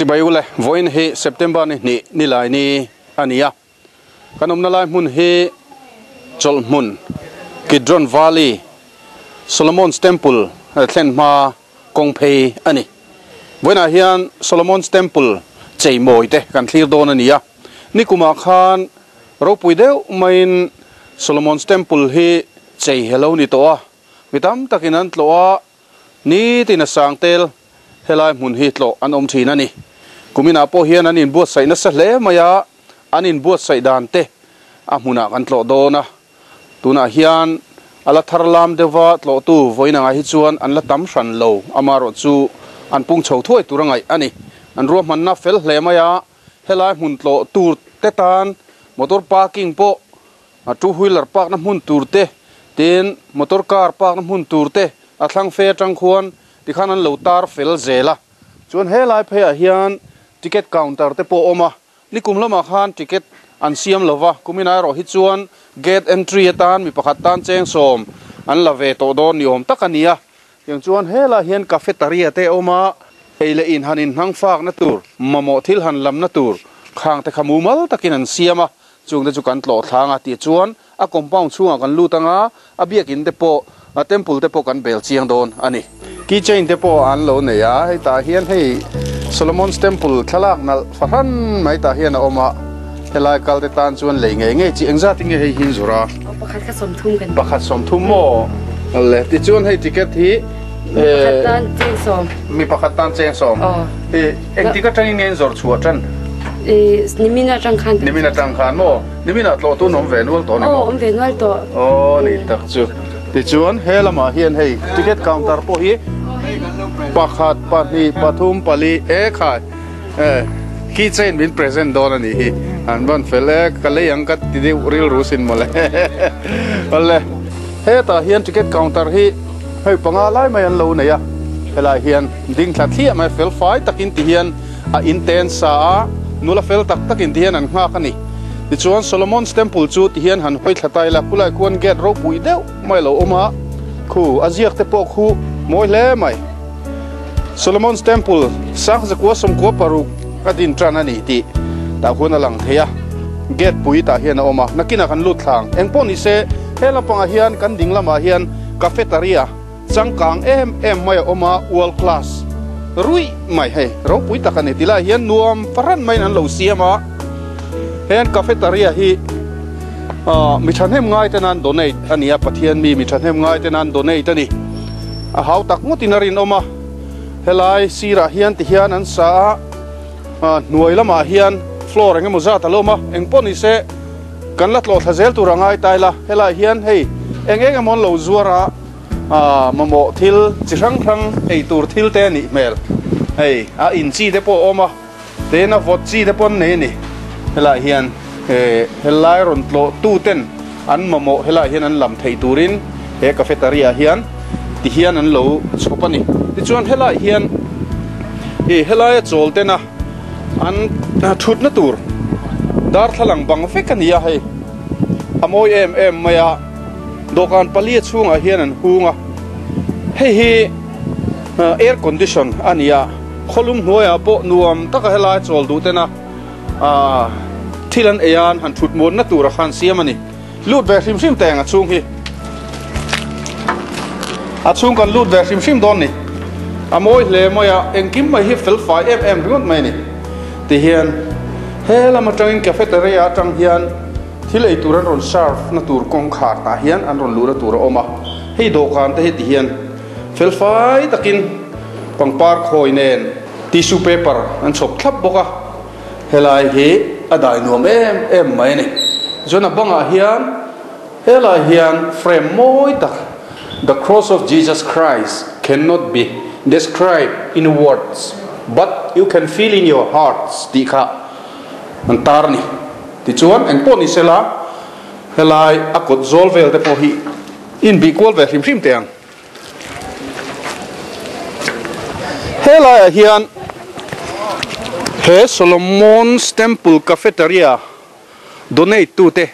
Chibai ule, vawiin hi September ni hnih ni lai ni a ni a. Kan awmna lai hmun hi chawlh hmun Kidron Valley, Solomon's Temple thlen hma kawng phei a ni. Vawiinah hian Solomon's Temple cheimawi te kan thlir dawn a ni a. Nikumah khan ropui deuh maiin Solomon's Temple hi chei helo ni tawh a, mi tam takin an tlawh a, Nitin a sang tel helai hmun hi tlawh an awm thin a ni. Kuminah pawh hian an inbuatsaih nasa hle mai a, an inbuatsaih dan te a hmunah kan tlawh dawn a. Tunah hian a la thar lam deuhva tlawhtu vawiin angah hi chuan an la tam hran lo, amaherawhchu an pung chho thuai tur a ngaih a ni. An ruahmanna fel hle mai a, helai hmun tlawh tur te tan motor parking pawh A two wheeler park na hmun tur te, tin motor car park na hmun tur te a thlang fe atang khuan tikhan an lo tar fel zel a. Chuan helai pheiah hian ticket counter te pawh a awm a, nikum lamah khan ticket an siam lo va, kumin erawh hi chuan gate entry atan mi pakhat tan cheng sawm an la ve tawh dawn ni awm tak a ni a. Tiang chuan helai hian cafeteria te a awm a, ei leh in han inhnang fakna tur, mamawh thil han lamna tur khang te kha mumal takin an siam a. Chungte chu kan tlawh thlang a tih chuan a compound chhungah kan lut anga a biakin te pawh a temple te pawh kan bel chiang dawn a ni. Key chain te pawh an lo nei a, hei tah hian hei Solomon's temple thlalak nalh fahran mai tah hian a awm a, helai kal te tan chuan lei ngei ngei chi engzat in nge hei hi in zawrh a? Aw pakhat kha sawmthum kan ti. Pakhat sawmthum maw? Le tichuan hei ticket hi Mi pakhat tan cheng sawm. Mi pakhat tan cheng sawm. Aw. Engtik atangin nge in zawrh chhuah tan? Nimin atang khan. Nimin atang khan maw? Nimin ah tlawh tun awm ve nual tawh ni maw? Aw awm ve nual tawh. Aw ni tak chu. Tichuan he lamah hian hei ticket counter pawh hi pakhat, pahnih, pathum, pali e khai e key chain min present dawn a nih hi. An ban fel e ka lei ang ka ti deuh rilru sin mawle. Awle hetah hian ticket counter hi hei panga lai mai an lo nei a, helai hian ding thla thliah mai fel fai takin ti hian A inten sa a, nula fel tak takin tihian an nghak a ni. Tichuan Solomon's Temple chu tihian han hawi thla ta ila, khulai khuan gate ropui deuh mai a lo awm a, khu a ziak te pawh khu mawi hle mai. Solomon's Temple sang zakua sawmkua paruk a din tan a ni tih tah khuan a lang thei a, gate pui tah hian a awm a, nakinah kan lut thlang. Engpawh ni se, he lampangah hian kan ding lamah hian cafeteria, Changkang em em mai a awm a, world class ruih mai hei ropui tak a ni ti lai hian nuam fahran maiin an lo siam a, heng cafeteria hi ah mi thahnem ngai ten an donate a ni a, Pathian mi mi thahnem ngai ten an donate a ni, a hau tak ngawtin a rinawm a, helai sirah hian ti hian an sa a, ah hnuai lamah hian floor eng emaw zat a lo awm a, engpawh ni se kan la tlawh thla zel tur a ngai ta ila, helai hian hei eng eng emaw an lo zuar a. Mamawh thil chi hrang hrang ei tur thil te a nih hmel. Hei a in chi te pawh a awm a, tin a vawt chi te pawh an nei a ni. Helaiah hian helai rawn tlawh tu ten an mamawh helaiah hian an lam theih turin he cafeteria ah hian ti hian an lo chhawp a ni. Tichuan helaiah hian ih helaia chawl tena an thutna tur darthlalang bang vek a ni a hei a mawi em em mai a. Dawhkan palia chhungah hian an hung a, hei hi air condition a ni a, khawlum hnuaiah pawh nuam taka helai chawl duh tena thil an ei an han thut muanna tura khan siam a ni. Lut ve hrim hrim teng a chhung hi. A chhung kan lut ve hrim hrim dawn ni. A mawi hle mai a, engkim mai hi fel fai em em ringawt mai a ni. Tihian he lam atangin cafeteria atang hian Thil ei tur an rawn serve na tur kawngkhar tah hian an rawn luhna tur a awm a, hei dawhkan te hi ti hian fel fai takin pangpar khawi nen tissue paper an chhawp thlap bawk a, helai hi a dai nuam em em mai a ni. Chuan a bangah hian helai hian frame mawi tak The cross of Jesus Christ cannot be described in words but you can feel in your hearts tih kha an tar a ni. Tichuan, eng pawh ni sela, helai a kawt zawl vel te pawh hi inbih kual ve hrim hrim teh ang. Helaiah hian he Solomon's Temple Cafeteria donate tute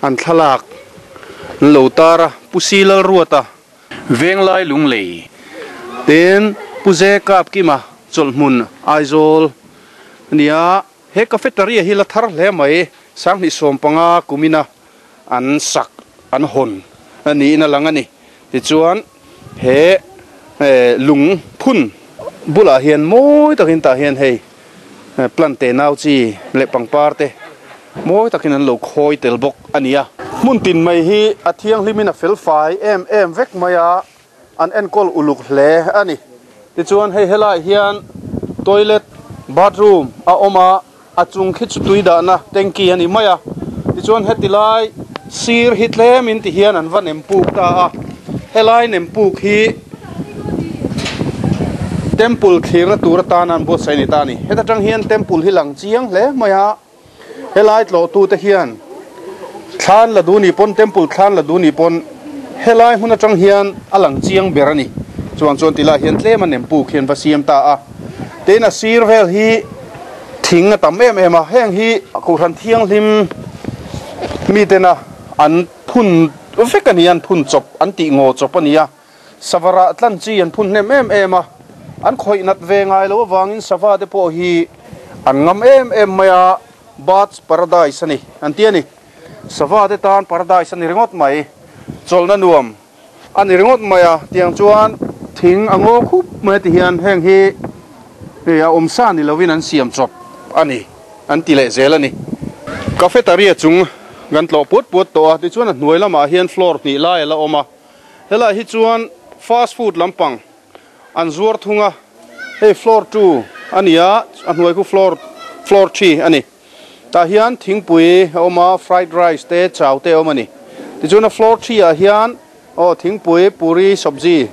an thlalak an lo tar a, Pu Si Lalruata, Venglai Lunglei, tin Pu Ze Kapkima chawlhhmun Aizawl. Nia, he cafeteria hi la thar hle mai, 2015 kumina an sak an hawn a niin a lang a ni. Tichuan, he lung phun bulah hian mawi takin tah hian hei plant te nau chi leh pangpar te mawi takin an lo khawi tel bawk a ni a. Hmun tin mai hi a thianghlimin a felfai em em vek mai a. An enkawl uluk hle a ni. Tichuan hei helaiah hian toilet, bathroom a awm a, a chung khi chu tui dahna tanky a ni mai a. Tichuan heti lai sir hi tlem in ti hian an va nem puk ta a, helai nem puk hi temple thlirna tur atana an buatsaih a ni ta a ni. Heta tang hian temple hi lang chiang hle mai a. Helai tlawhtute hian thlan la duh ni pawn, temple thlan la duh ni pawn helai hmun atang hian a lang chiang ber a ni. Chuang chuan tilai hian tlem a nem puk hian va siam ta a. Tin a sir vel hi thing a tam em em a, heng hi Kohhran Thianghlim mitena an phun vek a ni, an phun chawp an tih ngaw chawp a ni a. Sava rah tlan chi an phun hnem em em a, an khawih nat ve ngai lo avangin sava te pawh hi an ngam em em mai a, Birds Paradise a ni an ti a ni. Sava te tan paradise a ni ringawt mai, chawlhna nuam a ni ringawt mai a, tiang chuan thing a ngaw khup mai a ti hian heng hi a awmsa ni lovin an siam chawp a ni an ti leh zel a ni. Cafeteria chung kan tlawh puat puat tawh a, tichuan a hnuai lamah hian floor hnih lai a la awm a. Helaiah hi chuan fast food lampang an zuar thung a, hei floor two a ni a, a hnuai khu floor floor three a ni. Tah hian thingpui a awm a, fried rice te chau te a awm a ni. Tichuan a floor three ah hian aw thingpui, puri, sabzi,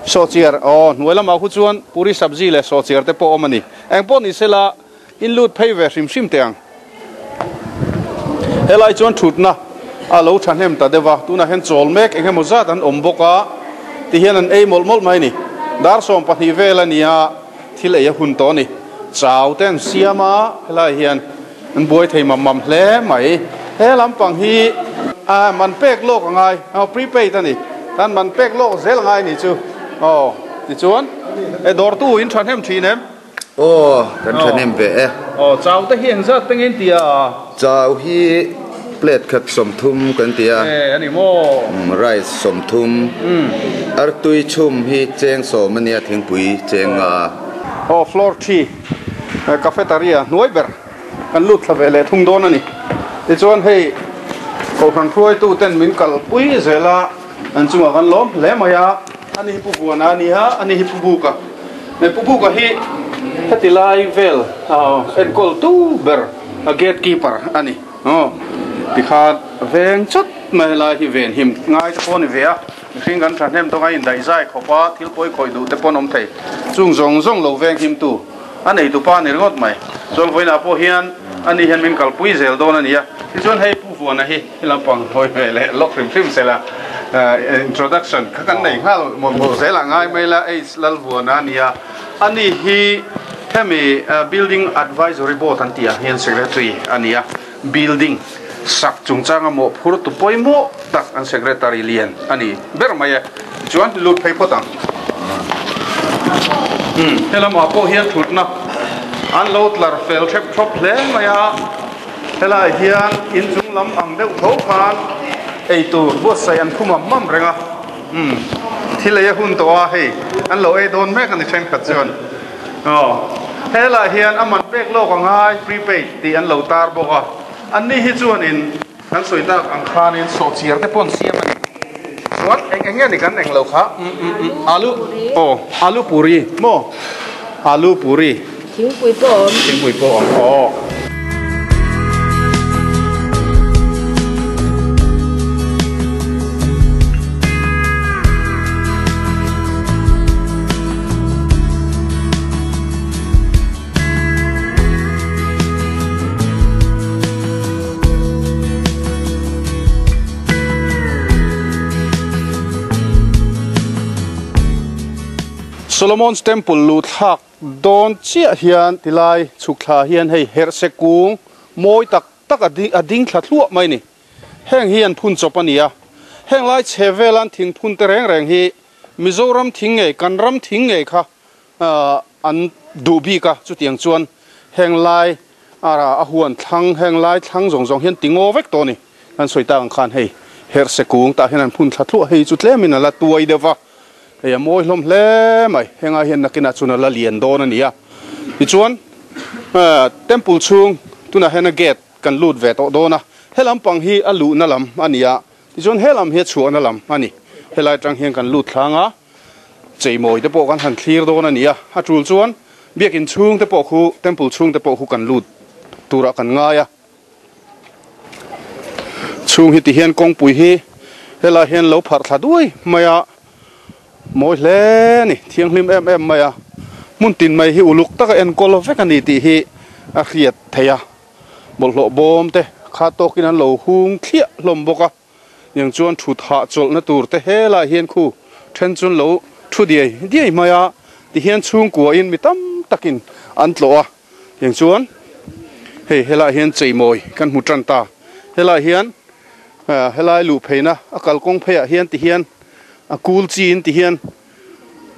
sawhchiar aw hnuai lamah khu chuan puri, sabzi leh sawhchiar te pawh a awm a ni. Engpawh ni sela In lut phei ve hrim hrim teh ang. Helai chuan thutna a lo thahnem ta deuh a, tunah hian chawl mek eng emaw zat an awm bawk a, tihian an ei mawlh mawlh mai a ni. Dar 12 vel a ni a, thil ei a hun tawh a ni. Chau te an siam a, helai hian an buai thei mam mam hle mai. He lampang hi a man pek lawk a ngai, aw prepaid a ni, tan man pek lawk zel a ngai a ni chu. Aw tichuan e dawrtu in thahnem thin em? Aw, kan thahnem ve e. Aw, chau te hi engzat te nge in ti a? Chau hi plate khat 30 kan ti a. E, a ni maw? Rice 30. Artui chhum hi cheng 10 a nia, thingpui cheng nga. Aw, floor 3 cafeteria hnuai ber kan lut thla ve leh thung dawn a ni. Tichuan hei Kohhran hruaitu ten min kalpui zel a, an chungah kan lawm hle mai a. Ani hi Pu Vuana a ni a, ani hi Pu Buka. He Pu Buka hi heti lai vel enkawl tu ber a gate keeper a ni. Aw, tikhan veng chawt mai helai hi ven him ngai te pawh a ni ve a, mihring kan thahnem tawk a indaih zai khawp a, thil pawi khawih duh te pawh an awm thei. Chung zawng zawng lo veng him tu a neitu pa a ni ringawt mai. Chuan vawiinah pawh hian ani hian min kalpui zel dawn a ni a, tichuan hei Pu Vuana hi He lampang hawi ve leh lawk hrim hrim sela introduction kha kan nei nghal mawlh mawlh zel a ngai mai la H Lalvuana a nia ani hi hemi building advisory board an tih ah hian secretary a nia building sak chungchanga mawhphur tu pawimawh tak an secretary lian a ni ber mai e tichuan lut phei phawt ang he lamah pawh hian thutna an lo tlar fel hrep thlawp hle mai a. Helai hian inchung lam ang deuh tho khan eitur buatsaih an khum am am reng a, umm thil ei a hun tawh a hei an lo ei dawn mek a ni thenkhat chuan aw helai hian a man pek lawk a ngai prepaid tih an lo tar bawk a, anni hi chuanin kan sawi tak ang khanin sawhchiar te pawh an siam a ni chuan eng eng nge ni kan eng lo kha umm umm umm alu aw alu puri maw alu puri. Thingpui pawh a awm. Thingpui pawh a awm aw. Solomon's Temple luhthlak Dawn chiah hian tilai chhuk thla hian hei herhse kung mawi tak tak a a ding thla thluah mai a ni. Heng hi an phun chawp a ni a, heng lai chhe velan thing phun te reng reng hi Mizoram thing ngei kan ram thing ngei kha an duh bik a, chutiang chuan. Heng lai a huan thlang heng lai thlang zawng zawng hian ti ngaw vek tawh a ni. Kan sawi tak ang khan hei herhse kung tah hian an phun thla thluah hei chu tlemin a la tuai deuh va, hei a mawi hlawm hle mai. Hengah hian nakinah chuan a la lian dawn a ni a. Tichuan temple chhung tunah hian a gate kan lut ve tawh dawn a, he lampang hi a luhna lam a ni a, tichuan he lam hi a chhuahna lam a ni. Helai atang hian kan lut thlang a. Cheimawi te pawh kan han thlir dawn a ni a, a tul chuan biakin chhung te pawh khu, temple chhung te pawh khu kan lut turah kan ngai a. Chhung hi tihian kawngpui hi helai hian lo pharh thla duai mai a, mawi hle a ni, thianghlim em em mai a, hmun tin mai hi uluk taka enkawl vek a ni tih hi a hriat theih a, bawlhhlawh bawm te kha tawkin an lo hung thliah hlawm bawk a. Niang chuan thut hahchawlhna tur te helai hian khu then chuan lo thu diai diai mai a, tihian chhungkuain mi tam takin an tlawh a, tiang chuan hei helai hian cheimawi kan hmu tan ta, helai hian helai luh pheina a kalkawng pheiah hian tihian a kul chiin tihian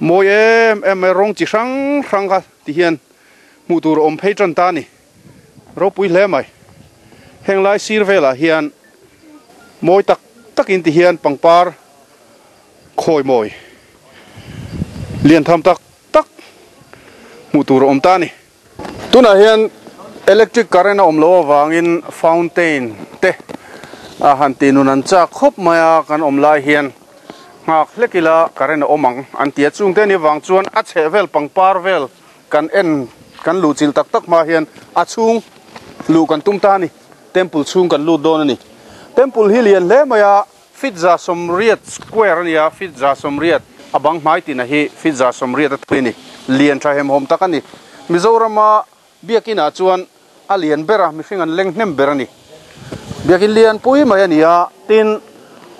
mawi em em mai rawng chi hrang hrang kha tihian hmuh tur a awm phei tan ta a ni, ropui hle mai, henglai sir velah hian. Mawi tak takin ti hian pangpar khawi mawi lian tham tak tak hmuh tur a awm ta a ni. Tunah hian electric current a awm loh avangin fountain te a han tih nun an chak khawp mai a, kan awm lai hian nghak hlek ila current a awm ang an ti a, chungte ni vang chuan a chheh vel pangpar vel kan en kan luh chilh tak tak hma hian a chhung luh kan tum ta a ni. Temple chhung kan lut dawn a ni. Temple hi lian hle mai a, feet 180 square a ni a, feet 180 a bang hmai tina hi feet 180 a thui a ni. Lian tha hemhawm tak a ni. Mizorama biakinah chuan a lian ber a, mihring an leng hnem ber a ni. Biakin lian pui mai a ni a, tin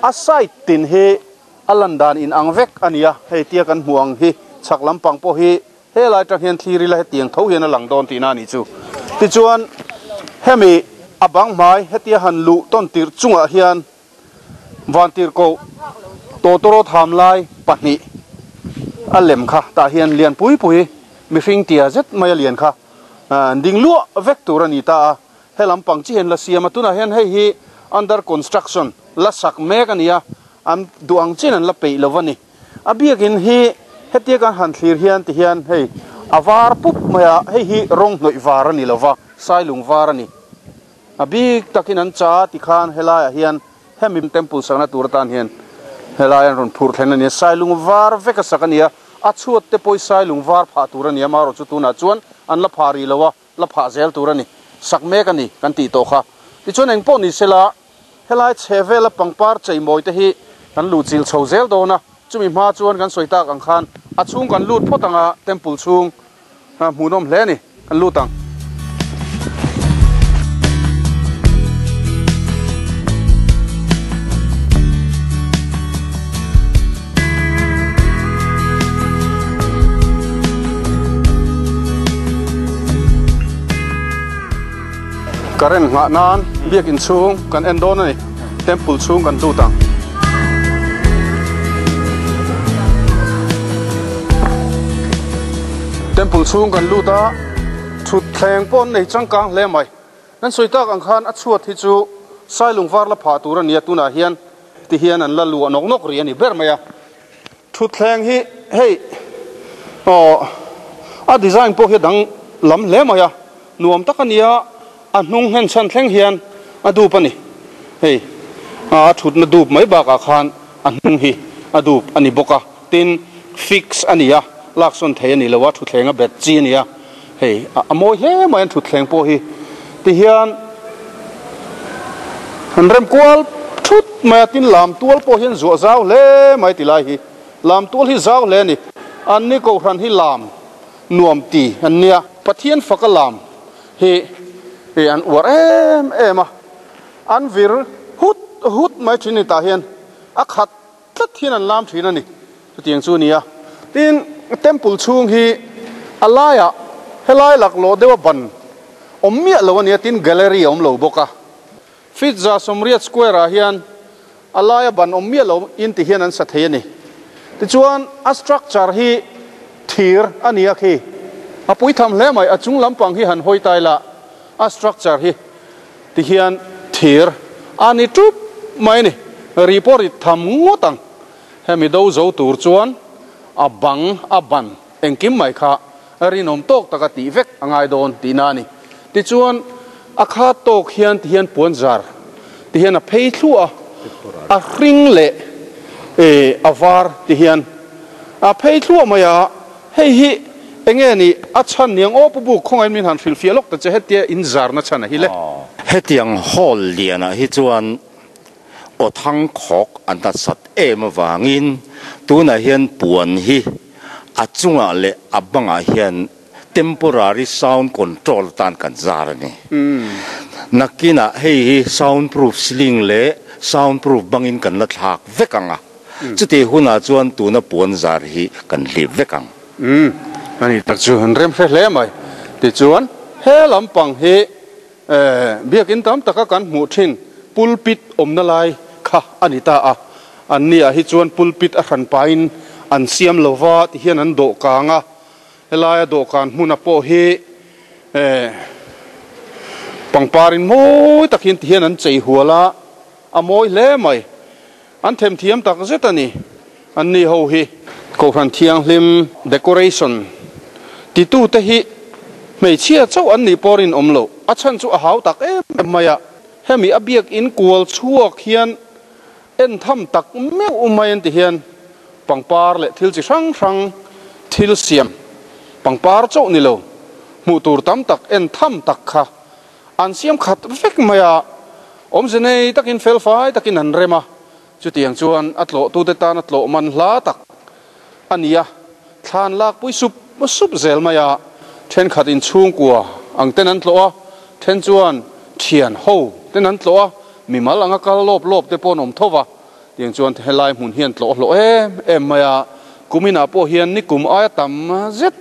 a side tin hi a lan dan inang vek a ni a, hei tia kan hmuh ang hi chhak lampang pawh hi Helai tang hian thlir ila hetiang tho hian a lang dawn tihna a nih chu. Tichuan, hemi a bang hmai hetia han luh tawn tirh chungah hian vantirhkoh tawtawrawt ham lai pahnih a lem kha tah hian lian pui pui mihring tia zet mai a lian kha ding luah vek tur a ni ta a. He lampang chi hian la siam a, tunah hian hei hi under construction la sak mek a ni a, an duh ang chin an la peih lo va ni. A biakin hi hetia kan han thlir hian ti hian hei a var pup mai a, hei hi rawng hnawih var a ni lo va, sailung var a ni. A bik takin an cha ti khan helaiah hian hemi temple sakna tur atan hian helai an rawn phurh thlen a ni a, sailung var vek a sak a ni a, a chhuat te pawh hi sailung var phah tur a ni a, amaherawhchu chu tunah chuan an la phah rih lo a. la phah zel tur a ni, sak mek a ni kan tih tawh kha. Tichuan eng pawh ni sela, helai chhe vela pangpar cheimawi te hi kan luh chilh chho zel dawn a, chumi hma chuan kan sawi tak ang khan a chhung kan lut phawt ang a, temple chhung hmuhnawm hle a ni, kan lut ang. Current nghah nan biakin chhung kan en dawn a ni, temple chhung kan lut ang. Temple chhung kan lut a, thutthleng pawh an nei changkang hle mai. Kan sawi tak ang khan a chhuat hi chu sailung var la phah tur a ni a, tunah hian ti hian an la luah nawk nawk rih a ni ber mai a. Thutthleng hi hei aw a design pawh hi a dang lam hle mai a, nuam tak a ni a, a hnung hnen chhan thleng hian a dup a ni. Hei a thutna dup mai bakah khan a hnung hi a dup a ni bawk a, tin fix a ni a, laksawn thei a ni lo a, thutthleng a bet chi a ni a. Hei a mawi hle mai an thutthleng pawh hi tihian an rem kual thut mai a, tin lam tual pawh hian zuah zau hle mai ti lai hi lam tual hi zau hle a ni. An ni kohhran hi lam nuam ti an nia, Pathian faka lam hi an uar em em a, an vir hut hut mai thin ni tah hian a khat tlat hian an lam thin a ni. Chutiang chu a ni a, tin temple chhung hi a laiah helai laklawh deuha ban awm miah lo a ni a, tin gallery a awm lo bawk a. Feet 180 square ah hian a laia ban awm miah lo in ti hian an sa thei a ni. Tichuan a structure hi thir a ni a khi, A pui tham hle mai, a chung lampang hi han hawi tai la, a structure hi tihian thir a ni tup mai a ni. Ri pawh rit tham ngawt ang. Hemi do zo tur chuan a bang a ban engkim mai kha rinawm tawk taka tih vek a ngai dawn tihna a ni. Tichuan a khat tawk hian tihian puan zar tihian a phei thluah a, a hring leh a var tihian a phei thluah mai a, hei hi enge ni a chhan niang aw Pu Buk khawngain min han hrilhfiah lawk ta che hetia in zarna chhan a hi le. Hetiang hall lianah hi chuan Aw thang khawk an nasat em avangin tunah hian puan hi a chungah leh a bangah hian temporary sound control atan kan zar a ni. Nakinah hei hi sound proof ceiling leh sound proof bangin kan la thlak vek ang a, chutih hunah chuan tuna puan zar hi kan hlip vek ang. Umm, a ni tak chu an rem hre hle mai. Tichuan he lampang hi Biakinn tam taka kan hmuh thin pulpit awmna lai kha a ni ta a, an ni ah hi chuan pulpit a hran pahin an siam lo va ti hian an dawh kang a, helaia dawhkan hmuna pawh hi pangparin mawi tak hian ti hian an chei hual a, a mawi hle mai. An themthiam tak zet a ni. An ni ho hi Kohhran Thianghlim decoration titute hi hmeichhia chauh an nih pawh rinawm loh. A chhan chu a hau tak em em mai a. Hemi a biakinn kual chhuak hian en tham tak meuh mai an ti hian pangpar leh thil chi hrang hrang thil siam pangpar chauh ni lo hmuh tur tam tak en tham tak kha An siam khat vek mai a, awmze nei takin felfai takin an rem a, chutiang chuan a tlawhtute tan a tlawh man hla tak a ni a, thlan lakpui sup sup zel mai a, thenkhat inchhungkua ang ten an tlawh a, then chuan thian ho ten an tlawh a, mimal anga kal lawp lawp te pawh an awm tho va, tiang chuan helai hmun hian tlawh hlawh em em mai a, kuminah pawh hian nikum aia tam zet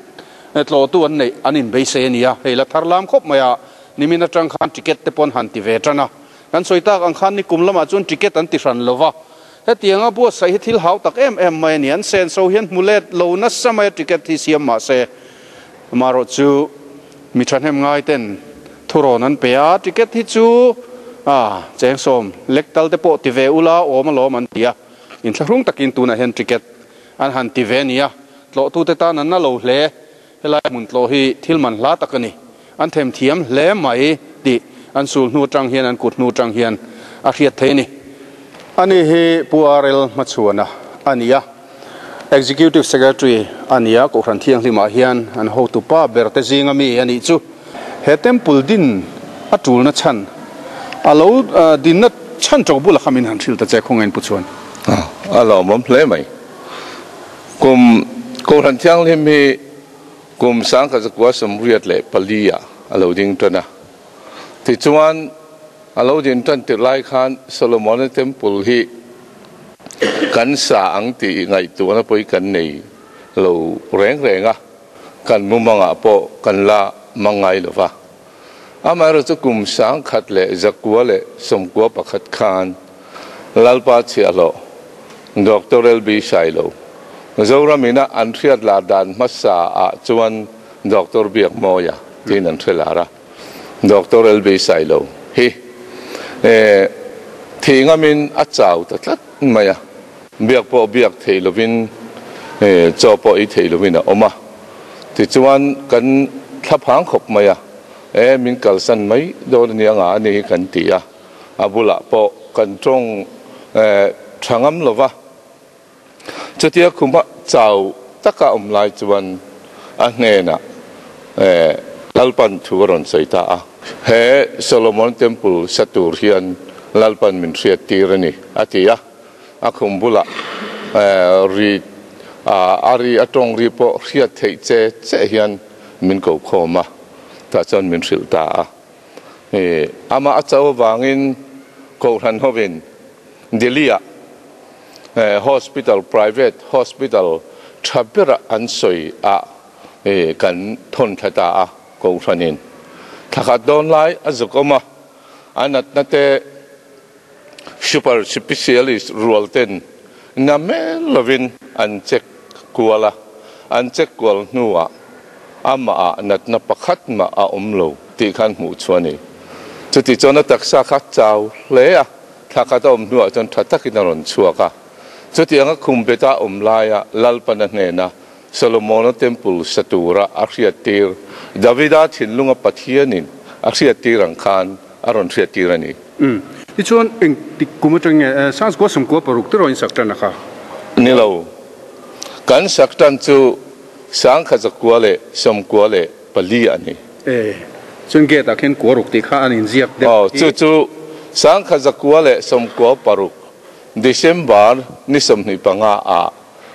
Tlawhtu an neih an inbeisei a nia, hei la thar lam khawp mai a, nimin atang khan ticket te pawn han ti ve tan a, kan sawi tak ang khan nikum lamah chuan ticket an ti hran lo va, hetianga buatsaih hi thil hau tak em em mai a ni, an senso hian hmu let lo nasa mai a ticket hi siam mah se, amaherawh chu mi thahnem ngai ten thurawn an pe a, ticket hi chu a cheng sawm lek tal te pawh ti ve ula awm alawm an ti a, inthlahrung takin tunah hian ticket An han ti ve nia, tlawhtute tan an na lo hle. Helai hmun tlawh hi thil man hla tak a ni. An themthiam hle mai tih an sul hnu atang hian, an kut hnu atang hian a hriat thei a ni. Ani hi Pu RL Hmachhuana a ni a, Executive Secretary a ni a, Kohhran Thianghlimah hian an hotupa ber te zinga mi a nih chu. He temple din a tulna chhan, a lo dinna chhan tawk bulah kha min han hrilh ta che khawngain Pu Chuan. A lawmawm hle mai. Kum Kohhran Thianghlim hi kum sangkhat zakua 84 ah a lo ding tan a. Tichuan a lo din tan tirh lai khan Solomona Temple hi kan sa ang tih ngaihtuahna pawh hi kan nei lo reng reng a. Kan mumangah pawh kan la mang ngai lo va. Amaherawhchu kum 1991 khan Lalpa chhiahhlawh Doctor LB Sailo, Zoram ina an hriat lar dan hmasa ah chuan Doctor Biakmawia tiin an hre lar a. Doctor LB Sailo hi thih ngamin a chau ta tlat mai a. Biak pawh biak theih lovin, chaw pawh ei theih lovin a awm a. Tichuan kan thlaphang khawp mai a, e min kalsan mai dawn a nia nga a ni hi kan ti a, a bulah pawh kan tawng tha ngam lo va. Chutia khuma chau taka awm lai chuan a hnenah Lalpan thu a rawn sawi ta a, He Solomon Temple sa tur hian Lalpan min hriat tir a ni, a ti a. A khum bulah ri a ri a tawng ri pawh hriat theih che che hian min ko khawm a, tah chuan min hrilh ta a. Amah a cho avangin Kohhran hovin Delhi-ah hospital, private hospital tha berah an sawi ah kan thawn thla ta a, Kohhranin thla khat dawn lai a zuk awm a, a natna te Super Specialist rual ten na mel lovin an check kual a, an check kual hnuah Amahah natna pakhat mah a awm lo tih khan hmuh chhuah a ni. Chuti chuan a taksa kha chau hle a, thla khat a awm hnuah chuan tha takin a rawn chhuak a. Chutianga khum beta awm laia Lalpana hnena Solomona Temple sa tura a hriattir, Davida thinlunga Pathianin a hriattir ang khan a rawn hriattir a ni. Umm. Tichuan engtik kum atang nge Sangchukua 96 te rawn sak tan a kha? Ni lo. Kan sak tan chu 1994 a ni. E. Chuan gate ah khian kua ruk tih kha an inziak deuh Aw, chu chu 1996 December ni 25 ah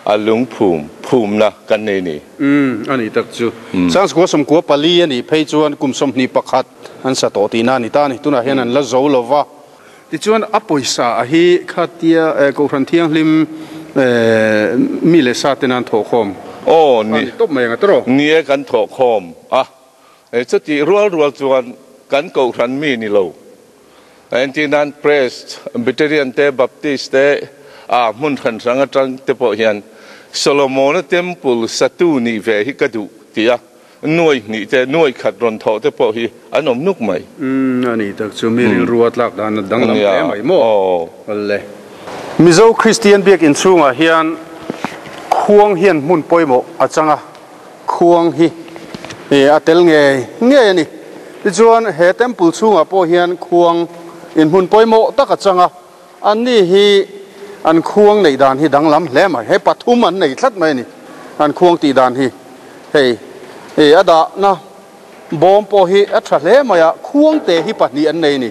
a lungphum phumna kan nei ni. Umm, a ni tak chu. 1994 a nih phei chuan kum 21 an sa tawh tihna a ni ta a ni. Tunah hian an la zo lo va. Tichuan a pawisa a hi khatia Kohhran Thianghlim mi leh sa ten an thawhkhawm Aw, ni. A ni tawp mai ang a tawrh. Ni e, kan thawhkhawm a. Chutih rual rual chuan kan Kohhran mi ni lo. Entir nan Presbyterian te, Baptist te, ah hmun hran hrang atang te pawh hian Solomona Temple satu nih ve hi ka duh ti a, nuai hnih te, nuai khat rawn thawh te pawh hi an awm nuk mai. Umm, a ni tak chu mi rilru a tlak dan a danglam hle mai maw? Awle. Mizo Kristian biakinn chhungah hian khuang hian hmun pawimawh a chang a. Khuang hi a tel ngei ngei a ni. Tichuan he temple chhungah pawh hian khuang inhmun pawimawh tak a chang a, anni hi an khuang neih dan hi danglam hle mai. Hei pathum an nei tlat mai a ni, an khuang tih dan hi. Hei a dahna bawm pawh hi a tha hle mai a, khuang te hi pahnih an nei a ni.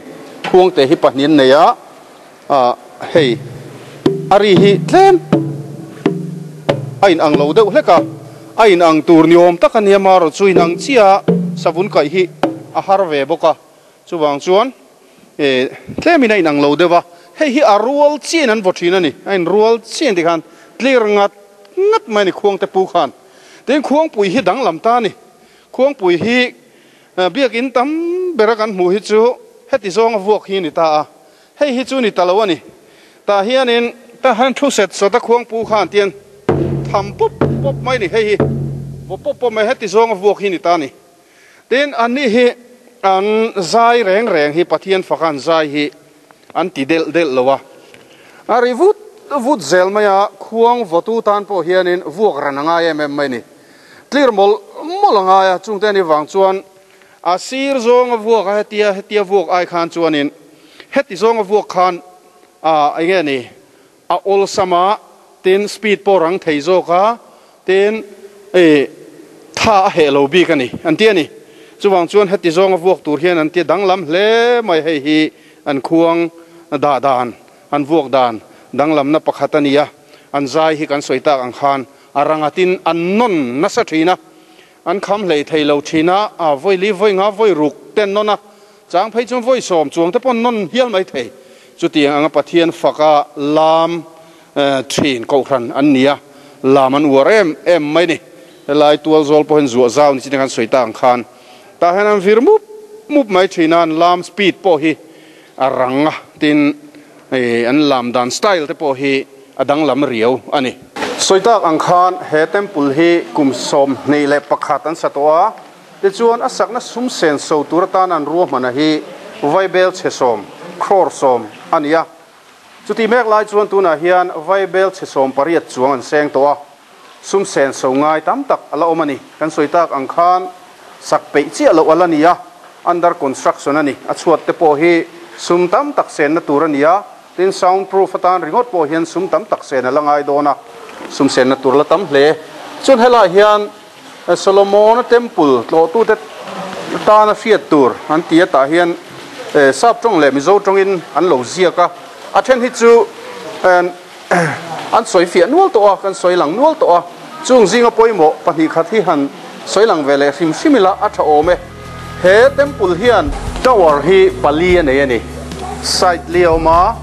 Khuang te hi pahnih an nei a. Ah hei a ri hi tlem a in ang lo deuh hlek a, a in ang tur ni awm tak a nia marawh chu in ang chiah a savun kaih hi a har ve bawk a, chuvang chuan eh tlem in a in ang lo deuh a, hei hi a rual chiah in an vaw thin a ni, a in rual chiah in tikhan tlir ngat ngat mai a ni khuangte pu khan, tin khuangpui hi danglam ta a ni, khuangpui hi biakin tam bera kan hmuh hi chu heti zawnga vuak hi a ni ta a. Hei hi chu ni ta lo a ni. Tah hianin tah hian thu set sawt a khuangpu khan tian tham pawp pawp mai ni. Hei hi vaw pawp pawp mai heti zawnga vuak hi ni ta a ni. Tin, anni hi an zai reng reng hi Pathian faka an zai hi an ti delh delh lo a. A ri vut vut zel mai a, khuang vawtu tan pawh hianin vuak ran a ngai em em mai ni. Tlir mawlh mawlh a ngai a, chungte ani vang chuan A sir zawnga vuak a hetia hetia vuak ai khan chuanin heti zawnga vuak khan a enge ni a awlsam a, tin speed pawh rang thei zawk a, tin i tha a heh lo bik a ni an ti a ni. Chuvang chuan heti zawnga vuak tur hian an ti danglam hle mai hei hi an khuang dah dan an vuak dan danglamna pakhat a ni a, an zai hi kan sawi tak ang khan a ranga tin an nawn nasa thin a. An kham hlei thei lo thin a, a vawi li vawi nga vawi ruk te an nawn a, chang phei chuan vawi sawm chuang te pawh an nawn hial mai thei. Chutiang anga Pathian faka lam thin kohhran an ni a, lam an uar em em mai ni. Helai tual zawl pawh hian zuah zau ni chin khan sawi ta ang khan tah hian an vir mup mup mai thin a, an lam speed pawh hi a rang a, tin an lam dan style te pawh hi a danglam riau a ni. Sawi tak ang khan he temple hi kum 21 an sa tawh a, tichuan a sakna sum sen so tur atan an ruahmana hi vaibel chhe sawm, crore sawm, a ni a. Chutih mek lai chuan tunah hian vaibel chhe 18 chuang an seng tawh a, sum sen so ngai tam tak a la awm a ni. Kan sawi tak ang khan sak peih chiah loh a la ni a, under construction a ni. A chhuat te pawh hi sum tam tak senna tur a ni a, tin sound proof atan ringawt pawh hian sum tam tak sen a la ngai dawn a, sum senna tur la tam hle. Chuan helaiah hian Solomona Temple tlawhtute tana hriat tur an ti a, tah hian Sap tawng leh Mizo tawngin an lo ziak a, a then hi chu An sawi fiah nual tawh a, kan sawi lang nual tawh a, chung zinga pawimawh pahnih khat hi han sawi lang ve leh hrim hrim ila a tha awm e. He temple hian tower hi pali a nei a ni. Side li a awm a,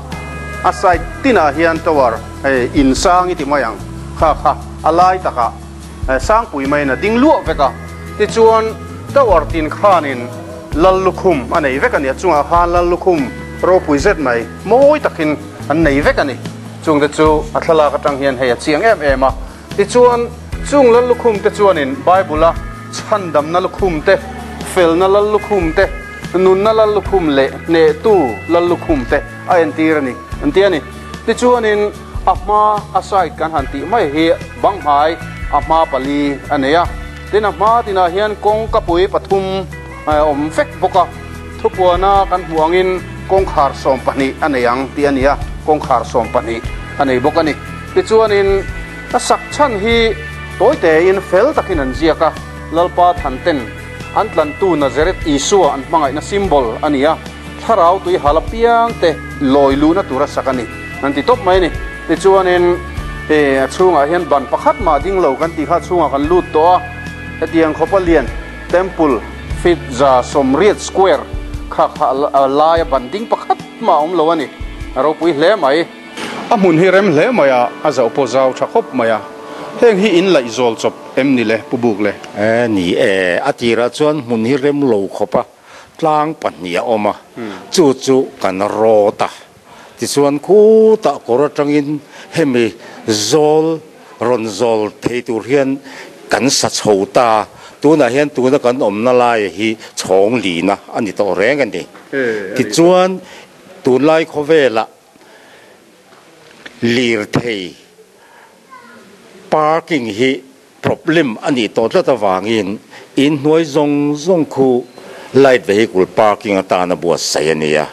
a side tinah hian tower hei in sang i ti mai ang kha kha a lai takah sangpui maiin a ding luah vek a, tichuan tower tin khanin lal lukhum a nei vek a ni, a chungah khan lal lukhum ropui zet mai mawi takin an nei vek a ni. Chungte chu a thlalak atang hian hei a chiang em em a. Tichuan, chung lal lukhum te chuanin Bible-a Chhandamna lukhum te, felna lal lukhum te, nunna lal lukhum leh hnehtu lal lukhum te a entir a ni, an ti a ni. Tichuanin a hma a side kan han tih mai hi bang hmai a hma pali a nei a. Tin a hma tinah hian kawngkapui pathum a awm vek bawk a. Thupuana kan hmuh angin kawngkhar 12 a nei ang tih a ni a, kawngkhar 12 a nei bawk a ni. Tichuanin a sak chhan hi tawi tein fel takin an ziak a, Lalpa than ten an tlantu Nazareth Isua an hmangaihna symbol a ni a, thlarau tui hal apiang te lawi luhna tura sak a ni an ti tawp mai a ni. Tichuanin a chhungah hian ban pakhat mah ding lo kan tih kha a chhungah kan lut tawh a, hetiang khawpa lian Temple feet 180 square kha kha a laia ban ding pakhat mah a awm lo a ni. A ropui hle mai. A hmun hi rem hle mai a, a zauh pawh zau tha khawp mai a. Heng hi in laih zawl chawp em ni le, Pu Buk le? E ni e, a tirah chuan hmun hi rem lo khawp a, tlang pahnih a awm a, chu chu kan rawt a. Tichuan khutah kawr atangin hemi zawl rawn zawl thei tur hian kan sa chho ta. Tunah hian tuna kan awmna laia hi chhawng lina a ni tawh reng a ni. Tichuan tunlai khawvelah lirthei parking hi Problem a nih tawh tlat avangin in hnuai zawng zawng khu light vehicle parking atana buatsaih a ni a.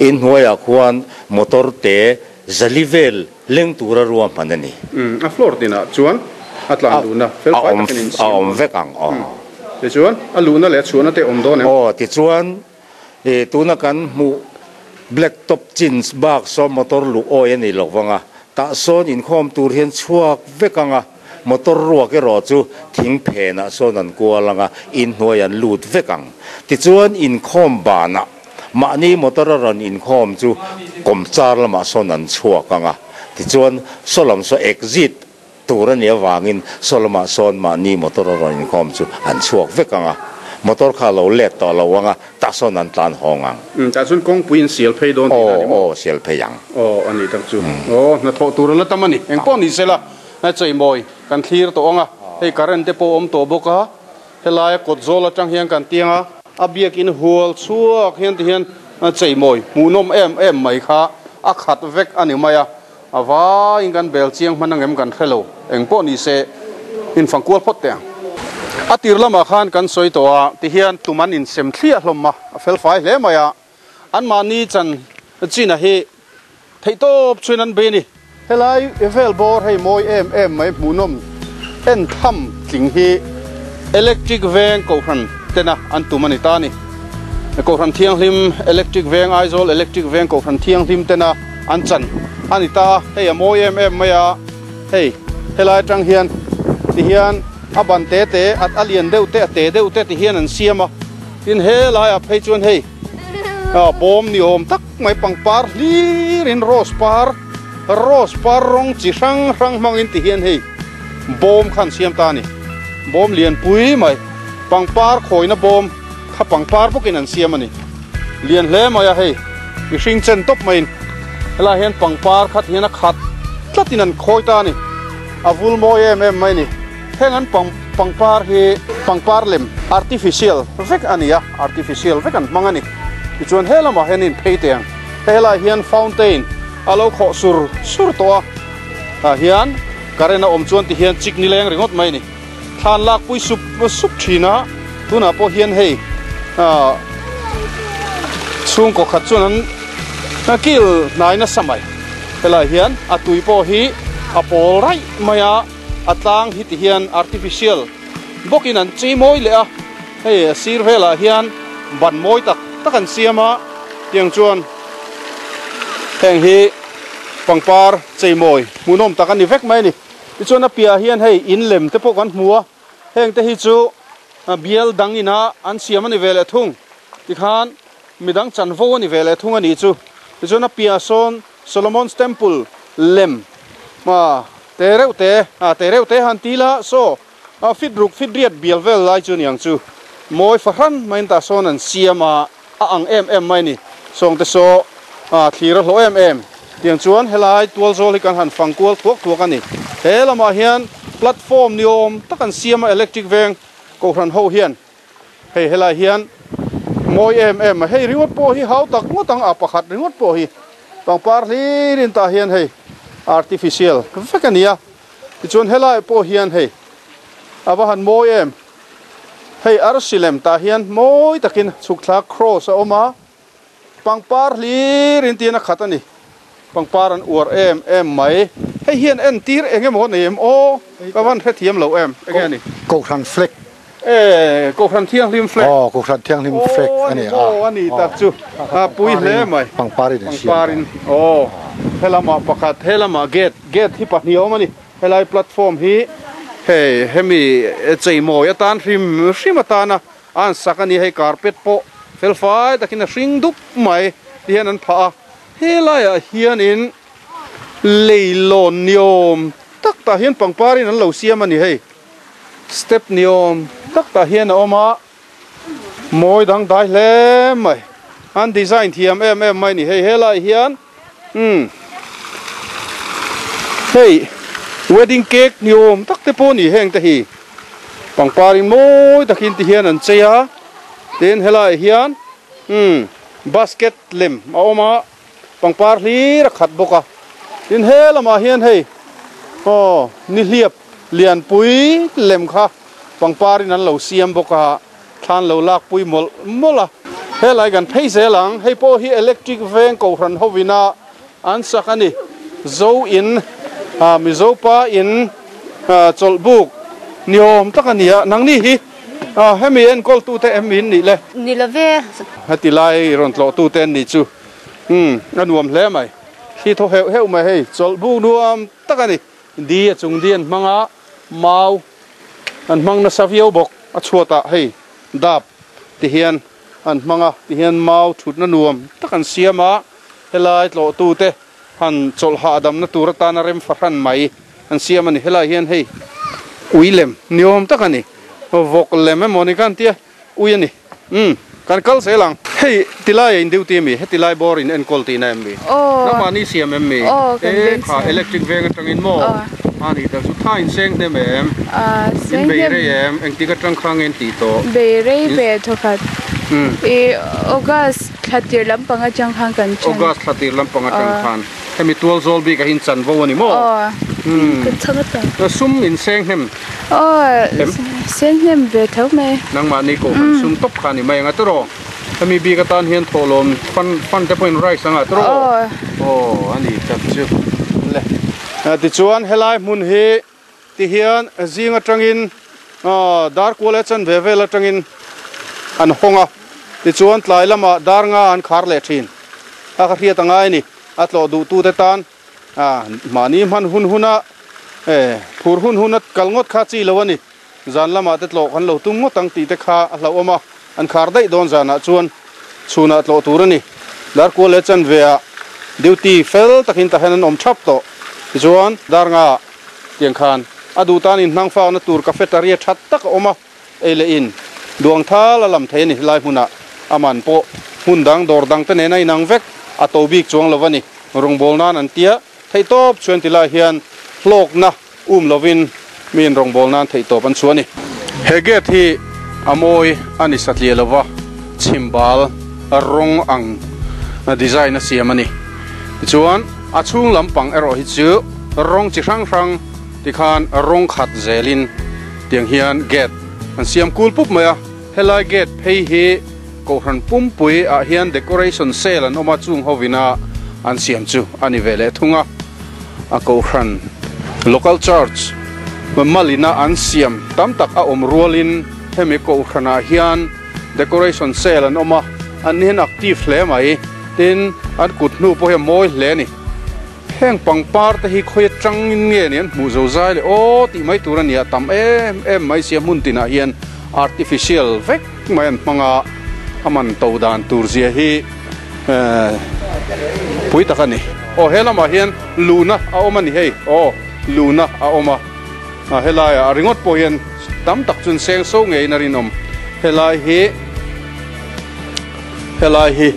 In hnuaiah khuan motor te zali vel leng tura ruahman a ni. A floor tinah chuan a tlan duhna fel fai takin in siam A awm vek ang aw. Tichuan a luhna leh a chhuahna te awm dawn em? Aw, tichuan tuna kan hmuh black top chins bak saw motor luh awi a ni lo vang a, tah sawn inkhawm tur hian chhuak vek ang a. Motor ruak erawh chu thing phenah sawn an kual ang a, inhnuai an lut vek ang. Tichuan inkhawm banah mahni motor a rawn inkhawm chu kawmchar lamah sawn an chhuak ang a, tichuan saw lam saw exit tur a nih avangin saw lamah sawn mahni motor a rawn inkhawm chu an chhuak vek ang a, motor kha a lo let tawh lo ang a, tah sawn an tlan hawng ang. Tah chuan kawngpui in sial phei dawn tihna a ni maw? Aw, aw, sial phei ang. Aw, a nih tak chu. Aw, hnathawh tur a la tam a ni. Engpawh ni sela. A cheimawi kan thlir tawh ang a, hei current te pawh a awm tawh bawk a, helaia kawt zawl atang hian kan tiang a, a biakin hual chhuak hian ti hian cheimawi hmuhnawm em em mai kha a khat vek a ni mai a, a vaiin kan bel chiang hman angem kan hre lo, eng pawh ni se infang kual phawt teh ang. A tir lamah khan kan sawi tawh a, ti hian tum an insem thliah hlawm a, a felfai hle mai a, anmahni chan china hi Theihtawp chuan an bei a ni. Helai vel bawr hei mawi em em mai hmuhnawm en tham tling hi Electric Veng Kohhran tena an tum a ni ta a ni. Kohhran Thianghlim Electric Veng Aizawl Electric Veng Kohhran Thianghlim tena an chan a ni ta a, hei a mawi em em mai a, hei helai atang hian ti hian a ban te te a lian deuh te a te deuh te ti hian an siam a, tin helaiah phei chuan hei bawm ni awm tak mai pangpar hlirin rose par rose par rawng chi hrang hrang hmangin ti hian hei bawm kha an siam ta a ni bawm lianpui mai pangpar khawina bawm kha pangpar bawkin an siam a ni lian hle mai a hei mihring chen tawp maiin helaiah hian pangpar kha ti hian a khat tlatin an khawi ta a ni a vul mawi em em mai a ni heng an pang pangpar hi pangpar lem artificial vek a ni a artificial vek an hmang a ni. Tichuan he lamah hian in phei teh ang. Hei helaiah hian fountain a lo khawh sur sur tawh a, tah hian current a awm chuan ti hian chik nileng ringawt mai a ni. Thlan lak pui sup sup thin a, tunah pawh hian hei ah chhungkaw khat chuan an kil hnai nasa mai. Helaiah hian a tui pawh hi a pawl raih mai a, a tlang hi ti hian artificial bawkin an chei mawi leh a. Hei a sir velah hian ban mawi tak tak an siam a, tiang chuan heng hi pangpar cheimawi hmuhnawm tak a ni vek mai a ni. Tichuan a piahah hian hei in lem te pawh kan hmu a, heng te hi chu bial dang ina an siam a ni ve leh thung. Tikhan midang chanvo a ni ve leh thung a nih chu. Tichuan a piahah sawn Solomon's Temple lem te reuh te te reuh te han ti la saw. A fit ruk fit riat bial vel lai chu niang chu mawi fahran maiin tah sawn an siam a, a ang em em mai a ni. Sawngte saw a thlir a hlawh em em. Tiang chuan helai tual zawl hi kan han fang kual thuak thuak a ni. He lamah hian platform ni awm tak an siam a, electric veng Kohhran ho hian hei helai hian mawi em em a, hei ringawt pawh hi hau tak ngawt ang a pakhat ringawt pawh hi pangpar hlir in tah hian hei artificial vek a ni a, tichuan helai pawh hian hei a va han mawi em, hei arsi lem tah hian mawi takin chhuk thla cross a awm a. Pangpar hlir in tiin a khat a ni. Pangpar an uar em em mai. Hei hian entir eng emaw nei em aw? Ka van hrethiam lo em? Enge a ni? Kohhran flag. E, Kohhran Thianghlim flag. Aw, Kohhran Thianghlim flag a ni a. Aw, a ni tak chu. A pui hle mai. Pangpar in an siam. Pangpar in, aw. Helamah pakhat, helamah gate, gate hi pahnih a awm a ni. Helai platform hi hei hemi cheimawi atan hrim hrim atana A an sak a ni, hei carpet pawh fel fai takin a hring dup mai ti hian an phah a, helaiah hianin leilawn ni awm tak tah hian pangpar in an lo siam a ni hei, step ni awm tak tah hian a awm a, mawi dangdai hle mai, an design thiam em em mai a ni hei helaiah hian umm hei wedding cake ni awm tak te pawh a ni heng te hi. Pangpar in mawi takin ti hian an chei a, tin helaiah hian umm basket lem a awm a, pangpar hlir a khat bawk a, tin he lamah hian hei aw nihliap lianpui lem kha pangpar in an lo siam bawk a, thlan lo lak pui mawlh mawlh a. Helai kan phei zel ang, hei pawh hi electric veng kohhran hovina An sak a ni. Zo in, Mizo pa in chawlh buk ni awm tak a ni a. Nangni hi hemi enkawl tute em in nih le? Ni lo ve. Heti lai rawn tlawh tute an nih chu. Umm, a nuam hle mai. Thli thaw heuh heuh mai hei. Chawlh buk nuam tak a ni. Di a chung di an hmang a, mau an hmang nasa viau bawk. A chhuatah hei dap ti hian an hmang a, tihian mau thutna nuam tak an siam a, helai tlawhtute han chawlh hahdamna tur atana rem fahran mai an siam a ni. Helai hian hei ui lem ni awm tak a ni, vawk lem emaw ni khan tia ui a ni. Umm kan kal zel ang. Hei tilai a in duty ami? Heti lai bawr in enkawl tihna em mi? Nangmahni siam em mi? E kha electric veng atangin maw? A ni tak chu tha in seng hnem em? In bei rei em? Engtik atang kha nge in tih tawh? Bei rei ve thawkhat. I August thla tir lampang atang khan kan then. August thla tir lampang atang khan. Hemi tual zawl bik ah hian chanvo a ni maw? Aw. Kan chhang atang. Sum in seng hnem Aw, seng hnem ve tho mai. Nangmahni kohhran sum tawp kha a ni mai ang a tiraw? Hemi bik atan hian thawhlawm fund fund te pawhin rice anga tiraw? Aw. Aw, a ni tak chu. Le. Tichuan helai hmun hi tihian zing atangin dar kual leh chanve vel atangin an hawng a, tichuan tlai lamah dar nga an khar leh thin. A ka hriat angai a ni, a tlawh duhtute tan mahni hman hun huna phur hun huna kal ngawt kha chi lo a ni. Zan lamah te tlawh kan lo tum ngawt ang tih te kha a hlauhawm a, an khar daih dawn zanah chuan chhunah tlawh tur a ni. Darkual leh chanveah duty fel takin tah hian an awm thap tawh. Tichuan, dar nga tiang khan a duh tan inhnang fakna tur cafeteria tha tak a awm a, ei leh in duang thal a lam thei a ni. Helai hmunah a man pawh hmun dang dawr dang te nen a inang vek, a to bik chuang lo a ni. Rawngbâwl nan an tia theihtawp chuan tilai hian hlawkna Um lovin mi in rawngbâwl nan theihtawp an chhuah a ni. He gate hi a mawi a ni satliah lova, chhimbal rawng ang design a siam a ni. Tichuan, a chhung lampang erawh hi chu rawng chi hrang hrang tikhan rawng khat zelin tiang hian gate an siam kul pup mai a. Helai gate phei hi Kohhran pumpui ah hian decoration sale an awm a, chung hovina an siam chu a ni ve leh thung a. A Kohhran local church malina an siam tam tak a awm rualin hemi Kohhranah hian decoration sale an awm a, an ni hian active hle mai. Tin, an kut hnu pawh hi a mawi hle a ni. Heng pangpar te hi khawi atangin nge ni an hmuh zo zai le aw tih mai tur a ni a, tam em em mai sia hmun tinah hian artificial vek mai an hmang a, a man to dan tur zia hi pui tak a ni. Aw he lamah hian luna a awm a ni hei, aw luna a awm a, helaiah a ringawt pawh hian tam tak chuan seng so ngeiin a rinawm helai hi. Helai hi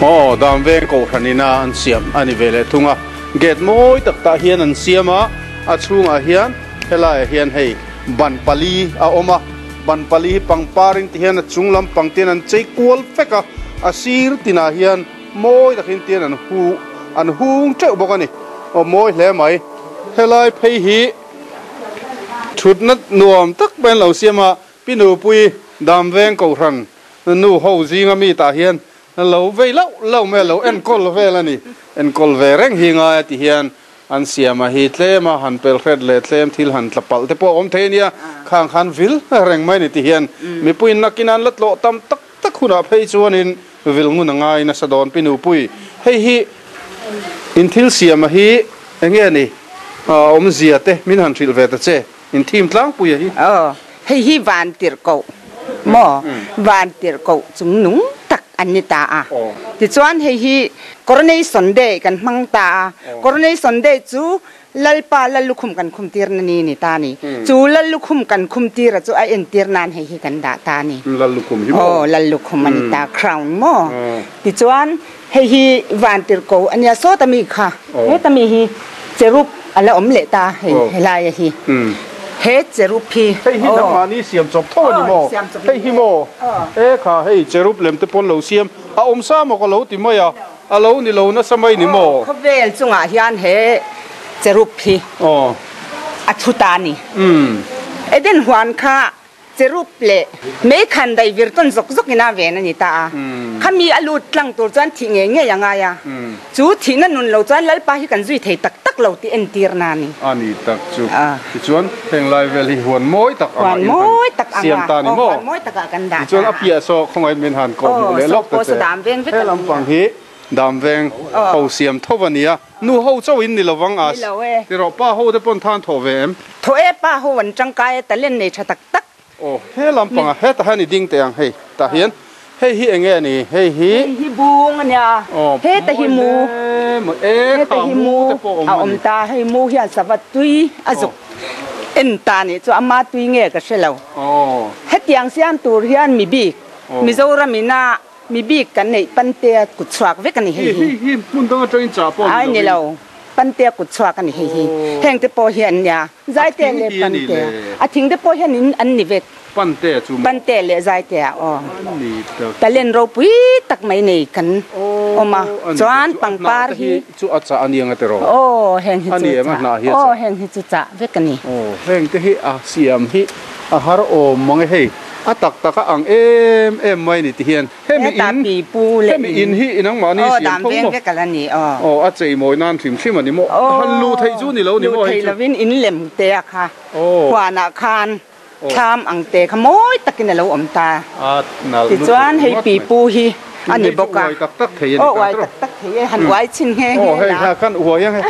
aw dam veng kohhran ina an siam a ni ve leh thung a, gate mawi tak tah hian an siam a, a chhungah hian helaiah hian hei Ban pali a awm a, ban pali hi pangparin ti hian a chung lampang te hian an chei kual vek a, a sir tinah hian mawi takin te hian an hu an hung teuh bawk a ni. Aw mawi hle mai. Helai phei hi thutna nuam tak mai an lo siam a, Pi Nupui Damveng Kohhran nu ho zinga mi tah hian lo vei lauh lauh mai a, lo enkawl vel a ni. Enkawl ve reng hi ngai a ti hian An siam a hi tlem a, han pel hret leh tlem thil han tla palh te pawh a awm thei a nia, khang khan vil reng mai ni ti hian mipuiin nakin an la tlawh tam tak tak hunah phei chuanin vil ngun a ngai nasa dawn pi nupui. Hei hi in thil siam a hi enge ni awmzia te min han hrilh ve ta che, in thim tlangpui a hi. Aw, hei hi van tirh koh maw? Van tirh koh chung nung tak an ni ta a. Tichuan hei hi Coronation Day kan hmang ta a. Coronation Day chu Lalpa Lallukhum kan khum tirna ni ni ta ni. Chu Lallukhum kan khum tira chu a entir nan hei hi kan dah ta ni. Lallukhum hi maw? Aw, Lallukhum a ni ta, crown maw? Tichuan hei hi van tirhko a nia, sawta mi kha, heta mi hi cherub a la awm leh ta hei helaia hi. He cherub hi. Hei hi nangmahni siam chawp tho a ni maw? Hei hi maw? E kha hei cherub lem te pawn lo siam a awm sa maw ka lo ti mai a, a lo ni lo nasa mai ni maw? Khawvel chungah hian he cherub hi a thu ta a ni. Eden huan kha Cherub leh mei khan dai vir tawn zawk zawk ina ven a ni ta a. Khami a lut tlang tur chuan thih ngei ngei a ngai a. Chu thihna nun lo chuan Lalpa hi kan zui thei tak tak lo tih entirna a ni. A ni tak chu. Tichuan heng lai vel hi huan mawi tak anga in han siam ta ni maw? Huan mawi tak ah kan dah ta. Tichuan a piah saw khawngaih min han kawh hmuh leh lawk ta che. He lampang hi Damveng ho siam tho a nia. Nu ho chauh in ni lo vang a. Ni lo e. Ti rawh, pa ho te pawn than thawh ve em? Thawh e, pa ho an tangkai e, talent nei tha tak tak. Aw, he lampang ah, hetah hian i ding teh ang hei, tah hian hei hi enge a ni, hei hi. Hei hi bung a nia, heta hi mu, heta hi mu a awm ta, hei mu hian sava tui a zuk en ta nih chu ama tui nge ka hre lo. Hetiang siam tur hian mi bik Mizoram ina Mi bik kan neih Pantea kut chhuak vek a ni hei hi. Hei hi hmun dang atangin chah pawh a ni lo. Ai ni lo, Pantea kut chhuak a ni hei hi. Heng te pawh hi an nia, Zaitea leh Pantea. A thing te pawh hian in an ni vek. Pantea chu maw? Pantea leh Zaitea aw. An ni tak. Talent ropui tak mai nei kan awm a, chuan pangpar hi. Chu a chah a ni ang a tiraw? Aw, heng hi chu chah. Aw, heng hi chu chah vek a ni. Aw, heng te hi a siam hi a har awm mang e hei. A tak tak a ang em em mai ni ti hian hemi in hemi in hi nangmahni siam tho maw? Aw, a chei mawi nan hrim hrim a ni maw? Han luh theih chu ni lo ni maw hei chu? Luh theih lovin in lem te a kha huanah khan thlam ang te kha mawi takin a lo awm ta. Tichuan hei pipu hi a ni bawk a. Aw uai tak tak thei e, han uai chhin nghe nghe la. Aw hei kha kan uai ang e.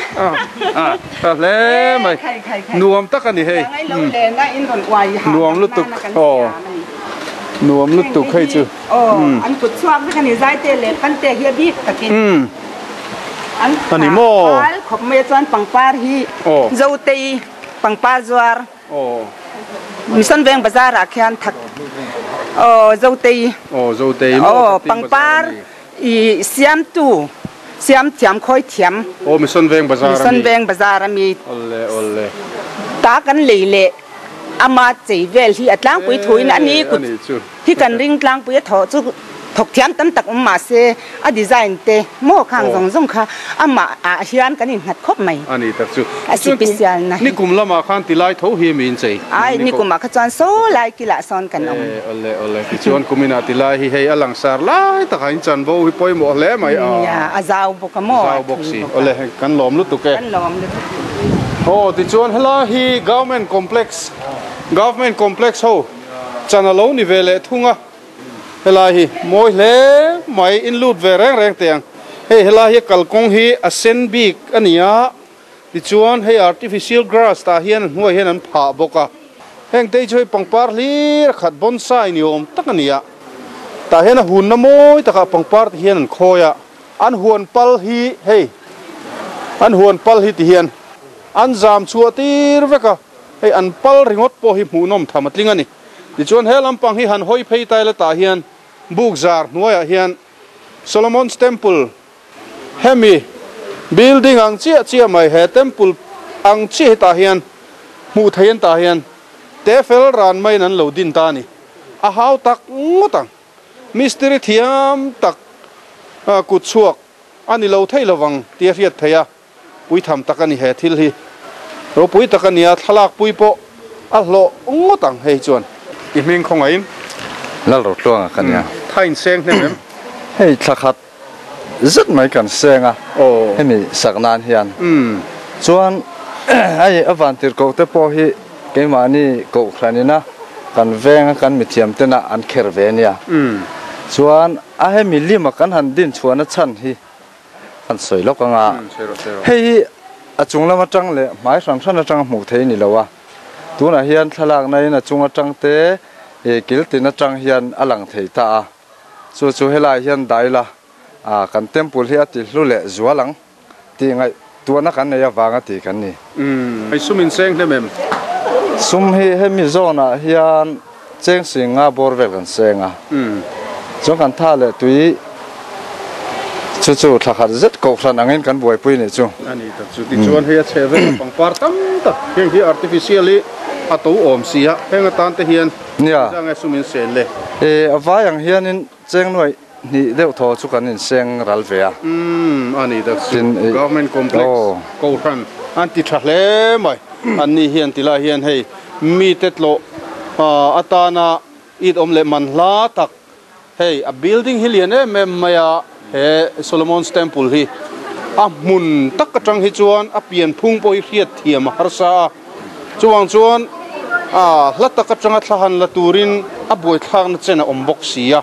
Tha hle mai. Nuam tak a ni hei. Nuam lutuk aw. Nuam lutuk hei chu. Aw an kut chhuak vek a ni Zaite leh Pante hi a bik takin. A ni maw? Khawp mai a chuan pangpar hi Zotei pangpar zuar. Mission Veng Bazar ah khian thak aw Zotei aw Zotei aw pangpar i siamtu siam thiam khawi thiam aw Mission Veng Bazar Mission Veng Bazar ami awle awle ta kan lei leh ama chei vel hi a tlangpui thuin ani kut hi kan ring tlangpui a thawh chu Thawk thiam tam tak awm mah se, a design te maw khang zawng zawng kha amah ah hian kan innghat khawp mai. A ni tak chu. A special na hi. Nikum lamah khan tilai tho hi mi inchei. Ai, nikum ah kha chuan saw lai kilah sawn kan awm. E, awle awle. Tichuan kuminah tilai hi hei a langsar lai takah in chanvo hi pawimawh hle mai a. Nia, a zau bawk a maw? Zau bawk si. Awle, kan lawm lutuk e. Kan lawm lutuk. Aw, tichuan helai hi Government Complex, Government Complex ho chan a lo ni ve leh thung a. Helai hi mawi hle mai in lut ve reng reng teh ang. Hei helai hi kalkawng hi a sen bik a ni a, tichuan hei artificial grass tah hian a hnuai hian an phah bawk a. Heng te hi chu hei pangpar hlir a khat bonsai ni awm tak a ni a, tah hian a hunna mawi takah pangpar te hian an khawi a, an huan pal hi hei an huan pal hi ti hian an zam chhuah tir vek a, hei an pal ringawt pawh hi hmuhnawm tham a tling a ni. Tichuan he lampang hi han hawi phei tai la tah hian buk zar hnuaiah hian Solomon's Temple hemi building ang chiah chiah mai he temple ang chiah hi tah hian hmuh theih an tah hian Te fel ran maiin an lo din ta a ni. A hau tak ngawt ang. Mistiri thiam tak kut chhuak a ni lo thei lovang tih a hriat theih a, puitham tak a ni he thil hi. Ropui tak a nia, thlalak pui pawh a hlawh ngawt ang hei chuan. I hming khawngaihin. Lalrotluanga ka nia. Thain seng hnem em? Hei thla khat zet mai kan seng a, hemi sak nan hian. Chuan hei a vantirhkoh te pawh hi keimahni kohhran ina kan venga kan mithiam tena an kher ve ania. Chuan a hemi lima kan han din chhuahna chhan hi kan sawi lawk anga, hei hi a chung lam atang leh hmai hran hran atanga hmuh theih a ni lo a, tunah hian thlalakna in a chung atang te kil tin atang hian a lang thei ta a. Chu chu helaiah hian daila ah kan temple hi a ti hlu leh zual ang tih ngaihtuahna kan nei avanga ti kan ni. Umm, hei sum in seng hnem em? Sum hi hemi zawnah hian cheng sing nga bawr vel kan seng a, chuan kan tha leh tui chu chu thla khat zet kohhran angin kan buaipui nih chu. A ni tak chu, tichuan hei a chheh vel a pangpar tam tak heng hi artificial hi a to awm si a, heng atan te hian Nia. Zang e sum in sen le. E, a vai ang hianin cheng nuaih hnih deuh thaw chu kan inseng ral ve a. Umm, a ni tak chu. Tin, e, Government complex aw. Kohhran an ti tha hle mai. An ni hian ti lai hian hei mite tlawh atana it awm leh man hla tak hei a building hi lian em em mai a, he Solomon's Temple hi a hmun tak atang hi chuan a pianphung pawh hi hriat thiam a harsa a, chuvang chuan a hla tak atanga thla han la turin a buaithlakna chen a awm bawk si a,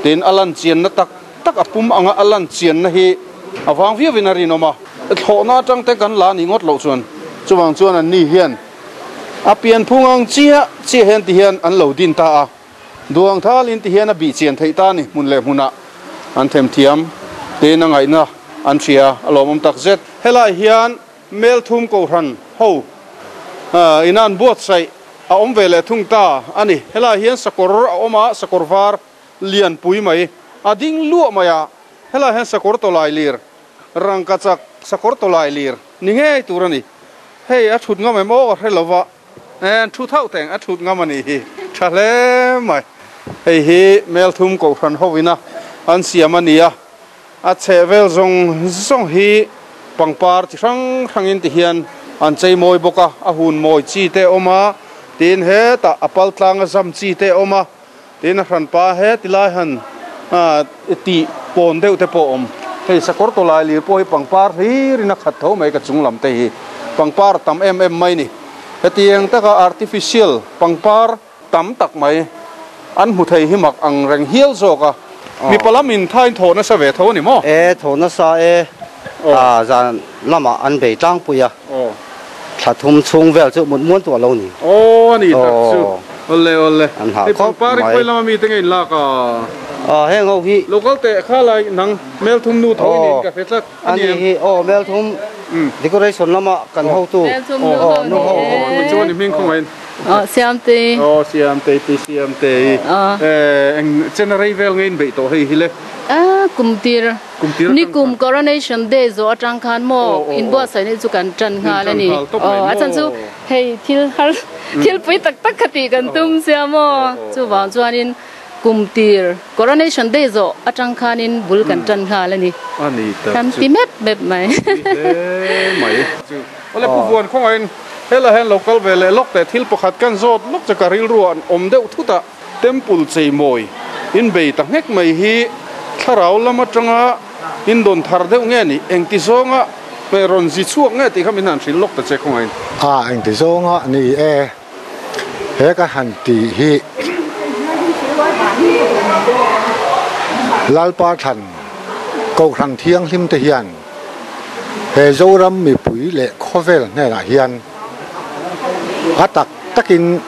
tin a lan chianna tak tak a pum anga a lan chianna hi a vang viauin a rinawm a, thlawhna atang te kan la ni ngawt loh chuan chuvang chuan an ni hian a pianphung ang chiah chiah hian ti hian an lo din ta a. Duang thalin ti hian a bih chian theih ta a ni, hmun leh hmunah an themthiam tein a ngaihna an hria a lawmawm tak zet. Helai hian Melthum Kohhran ho ina an buatsaih a awm ve leh thung ta a ni. Helai hian sakawr a awm a, sakawr var lianpui mai a ding luah mai a, helai hian sakawr tawlai lir, rangkachak sakawr tawlai lir ni ngei tur a ni. Hei a thut ngam em aw ka hre lo va. En thu thauh teng a thut ngam a nih hi tha hle mai. Hei hi Melthum Kohhran ho ina an siam a ni a, a chheh vel zawng zawng hi pangpar chi hrang hrangin ti hian an chei mawi bawk a, a hun mawi chi te a awm a, tin hetah a pal tlanga zam chi te a awm a, tin a hranpa he tilai han tih pawn deuh te pawh a awm. Hei sakawr tawlai lir pawh hi pangpar hlirin a khat tho mai ka chung lam te hi pangpar a tam em em mai ni. Hetiang taka artificial pangpar tam tak mai an hmu thei hi mak ang reng hial zawk a, mipa lam in thain thaw nasa ve tho a ni maw? E, thaw nasa e, zan lamah an bei tlangpui a. Thla thum chhung vel chu mut muan tuah lo ni. Aw a ni tak chu. Awle awle. An hah Hei khawp pangpar i mai. khawi lama mite nge in lak a? Aw heng ho hi. Lo kal teh kha lai nang Melthum nu tho i niin ka hre tlat. A ni hi aw Melthum decoration lama kan hotu. Melthum nu ho nu ho. Aw chuan i hming khawngaih in. Aw Siamtei. Aw Siamtei pi Siamtei. Eng chen a rei vel nge in beih tawh hei hi le? A kum tir. Nikum Coronation Day zawh atang khan maw inbuatsaihna hi chu kan tan nghal a ni. Aw a chhan chu hei thil har thil pui tak tak kha tih kan tum sia maw chuvang chuanin kum tir Coronation Day zawh atang khanin bul kan tan nghal a ni. Kan ti mep mep mai. Awle Pu Vuan khawngaihin helai hian lo kal ve leh lawk teh thil pakhat kan zawt lawk che ka rilruah an awm deuh thut a. Temple cheimawi inbei ta nghek mai hi thlarau lam atanga indawn thar deuh nge ni? Engti zawnga rawn zi chhuak nge tih kha min han hrilh lawk ta che khawngain. A engti zawnga ni e, he ka han tih hi Lalpa thlan Kohhran Thianghlim te hian he Zoram mipui leh khawvel hnenah hian a tak takin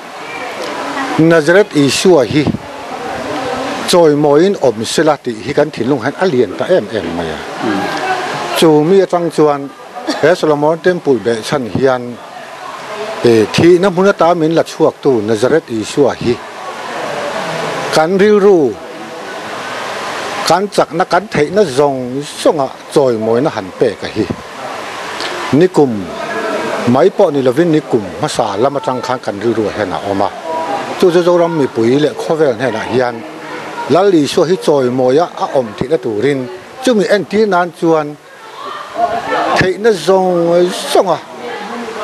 Nazareth Isua hi chawimawiin awm sela tih hi kan thinlung hian a lian ta em em mai a. Chu mi atang chuan he Solomon Temple behchhan hian thihna hmun ata min la chhuaktu Nazareth Isua hi kan rilru, kan chakna, kan theihna zawng zawnga chawimawina han pek a hi. Nikum. Mai pawh ni lovin nikum hmasa lam atang khan kan rilruah hian a awm a. Chu chu Zoram mipui leh khawvel hnenah hian Lal Isua hi chawimawia a awm theihna turin chumi entir nan chuan theihna zawng zawnga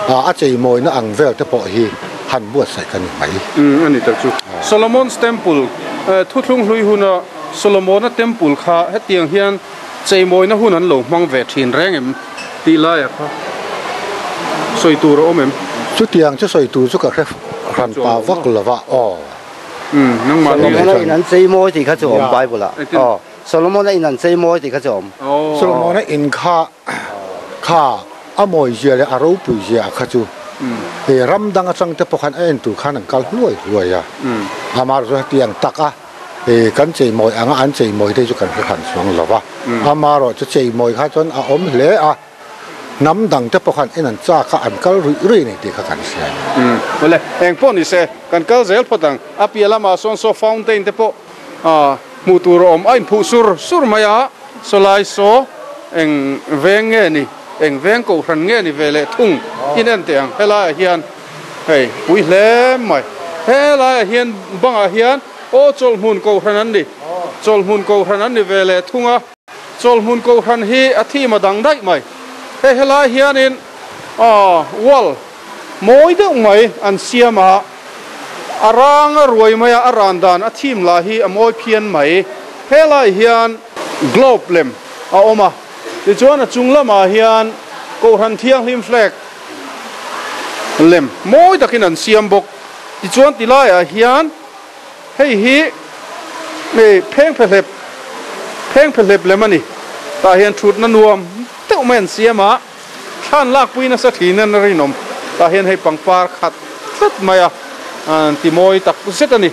a cheimawina ang vel te pawh hi han buatsaih ka ni mai. A ni tak chu. Solomon's Temple, Thuthlung hlui huna Solomona Temple kha hetiang hian cheimawina hun an lo hmang ve thin reng em tih laiah kha sawi tur a awm em? Chutiang chu sawi tur chu ka hre hran pa vak lo va aw. Solomona in an cheimawi tih kha chu a awm Bible ah aw. Solomona in an cheimawi tih kha chu a awm. Solomona in kha kha a mawizia leh a ropuizia kha chu ram dang atang te pawh khan a en tur khan an kal hluai hluai a. Amaherawhchu hetiang taka kan cheimawi anga an cheimawi te chu kan hre hran chuang lo va. Amaherawhchu cheimawi kha chuan a awm hle a. Hnam dang te pawh khan en an chak a, an kal ruih ruih a ni tih kha kan hria a ni. Awle, eng pawh ni se, kan kal zel phawt ang. A piah lamah sawn saw fountain te pawh hmuh tur a awm. A inphuh sur sur mai a, sawlai saw eng veng nge ni, eng veng kohhran nge ni ve leh thung in en teh ang. Helaiah hian hei pui hle mai. Helaiah hian bangah hian aw chawlhmun kohhran an ni, chawlhmun kohhran an ni ve leh thung a. Chawlhmun Kohhran hi a thim a dang daih mai. Hei helai hianin wall mawi deuh mai an siam a, a rang a ruai mai a, a ran dan a thim lah hi a mawi phian mai. Helai hian globe lem a awm a, tichuan a chung lamah hian Kohhran Thianghlim flag lem mawi takin an siam bawk. Tichuan tilaiah hian. Hei hi phengphehlep phengphehlep lem a ni. Tah hian thutna nuam deuh mai an siam a, thlan lakpui nasa thin in a rinawm. Tah hian hei pangpar khat tlat mai a, an ti mawi tak zet a ni.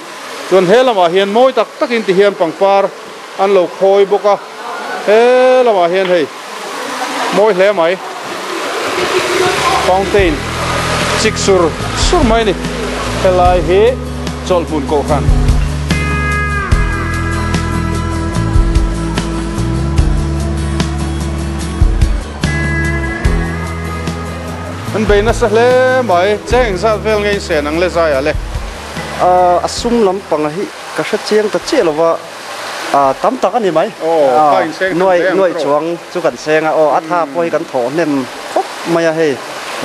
Chuan he lamah hian mawi tak takin ti hian pangpar an lo khawi bawk a, he lamah hian hei mawi hle mai fountain chik sur sur mai a ni helai hi chawlhhmun kohhran. An bei nasa hle mai cheng engzat vel nge in sen ang le zaiah le. A sum lampang hi ka hre chiang ta chiah lo va. Tam tak a ni mai. Nuai nuai chuang chu kan seng a, aw a tha pawh hi kan thawh hnem khawp mai a hei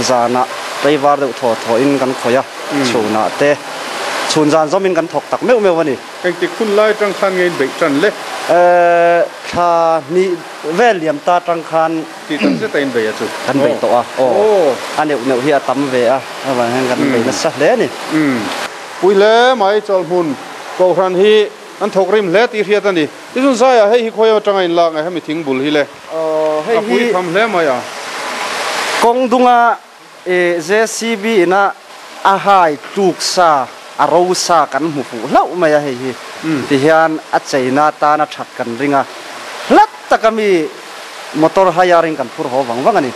zanah tlaivar deuh thaw thaw in kan khawih a, chhunah te chhun zan zawmin kan thawk tak meuh meuh a ni. Engtik hun lai atang khan nge in beih tan le? Thla hnih vel liam ta atang khan Tih tak zet a in beih a chu. Kan beih tawh a, aw a neuh neuh hi a tam ve a, avang hian kan beih nasa hle a ni. Pui hle mai chawlhmun Kohhran hi An thawk rim hle tih hriat a ni. Tichuan zaiah hei hi khawi atanga in lak nge hemi thing bul hi le? A pui tham hle mai a. Kawng dunga JCB ina a hai tluk sa, a ro sa kan hmu fuh hlauh mai a hei hi. Tihian a cheina tana that kan ring a, hlat taka mi motor hire in kan phur haw vang vang a ni.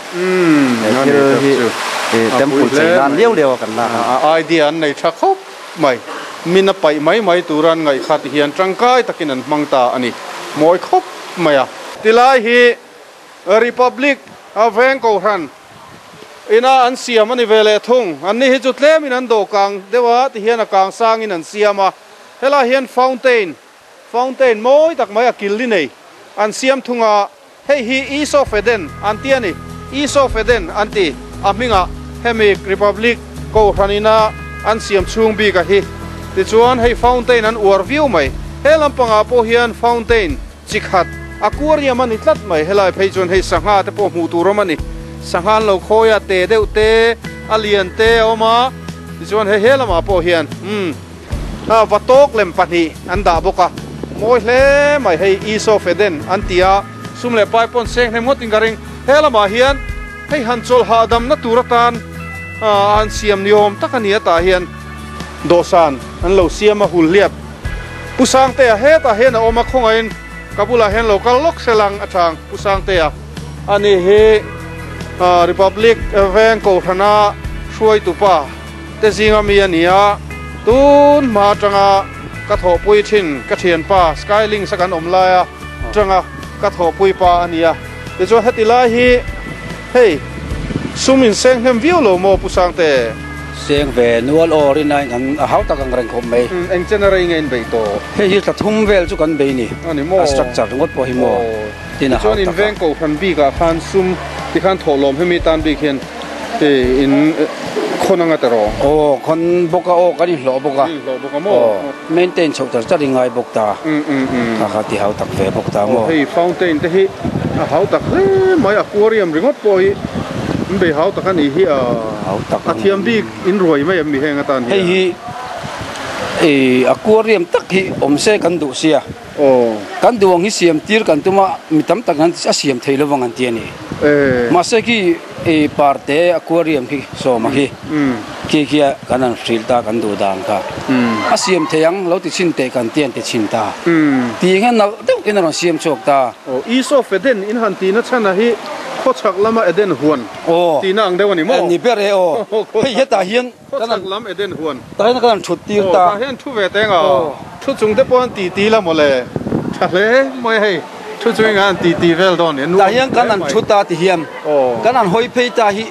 He thil hi temple chei nan liau liau a kan lak a. A idea an nei tha khawp mai. Min a paih mai mai tura an ngaih kha ti hian tangkai takin an hmang ta a ni. Mawi khawp mai a. Tilai hi Republic a veng kohhran ina an siam a ni ve leh thung. Anni hi chu tlemin an dawh kang deuh a, ti hian a kang sangin an siam a. Helai hian fountain, fountain mawi tak mai a kil li nei an siam thung a. Hei hi East of Eden an ti a ni. East of Eden an ti. A hmingah hemi Republic Kohhran ina an siam chhung bik a hi. Tichuan hei fountain an uar viau mai. He lampangah pawh hian fountain chi khat aquarium a ni tlat mai. Helai phei chuan hei sangha te pawh hmuh tur awm a ni. Sangha an lo khawi a, te deuh te, a lian te a awm a. Tichuan hei he lamah pawh hian umm. Va tawk lem pahnih an dah bawk a, mawi hle mai hei Esau Feden an ti a, sum leh pai pawn seng hnem ngawtin ka ring. He lamah hian hei han chawlh hahdamna tur atan an siam ni awm tak a ni a, tah hian dawhsan an lo siam a, hul hliap Pu Sangtea hetah hian a awm a, khawngaihin ka bulah hian lo kal lawk se lang a chang Pu Sangtea a ni hi Republic Veng Kohhrana hruaitupa. Te zinga mi a ni a, tun hma atanga ka thawhpui thin ka thianpa Skylinks a kan awm laia tanga ka thawhpui pa a ni a. Tichuan heti lai hi hei Sum in seng hnem viau lo maw Pu Sangte? Seng ve nual aw rin aiin kan a hau tak ang reng khawp mai. Eng chen a rei nge in bei tawh? Hei hi thla thum vel chu kan bei ni. A ni maw? A structure ringawt pawh hi maw? Tin a hau tak a. Tichuan in veng kohhran bikah khan sum tikhan thawhlawm hemi tan bik hian in khawn anga ta rawh? Aw khawn bawk a aw kan inhlawh bawk a. Kan inhlawh bawk a maw? Aw maintain chhoh char char i ngai bawk ta. Kha kha ti hau tak ve bawk ta maw? Aw hei fountain te hi a hau tak hle mai aquarium ringawt pawh hi in bei hau tak a nih hi a. Hau tak a thiam bik in ruai mai em mi heng atan hian? Hei hi aquarium tak hi awm se kan duh sia. Kan duh ang hi siam tir kan tum a, mi tam tak an a siam thei lovang an ti a ni. Mahse khi parte aquarium khi sawma khi khi khi a kan han hrilh ta kan duh dan kha a siam thei ang lo ti chhin teh kan ti an ti chhin ta. Ti hian nalh deuh in a rawn siam chhuak ta. East of Eden in han tihna chhan a hi khawchhak lama Eden huan tihna ang deuh a ni maw? Ni ber e aw. Hei hetah hian Khawchhak lam Eden huan. Tah hian kan han thut tir ta. Aw, tah hian thu ve teng a. Thu chung te pawh an ti ti la mawle. Tha hle mai hei. Thu chung in an ti ti vel dawn ni. Tah hian kan han thu ta ti hian kan han hawi phei ta hi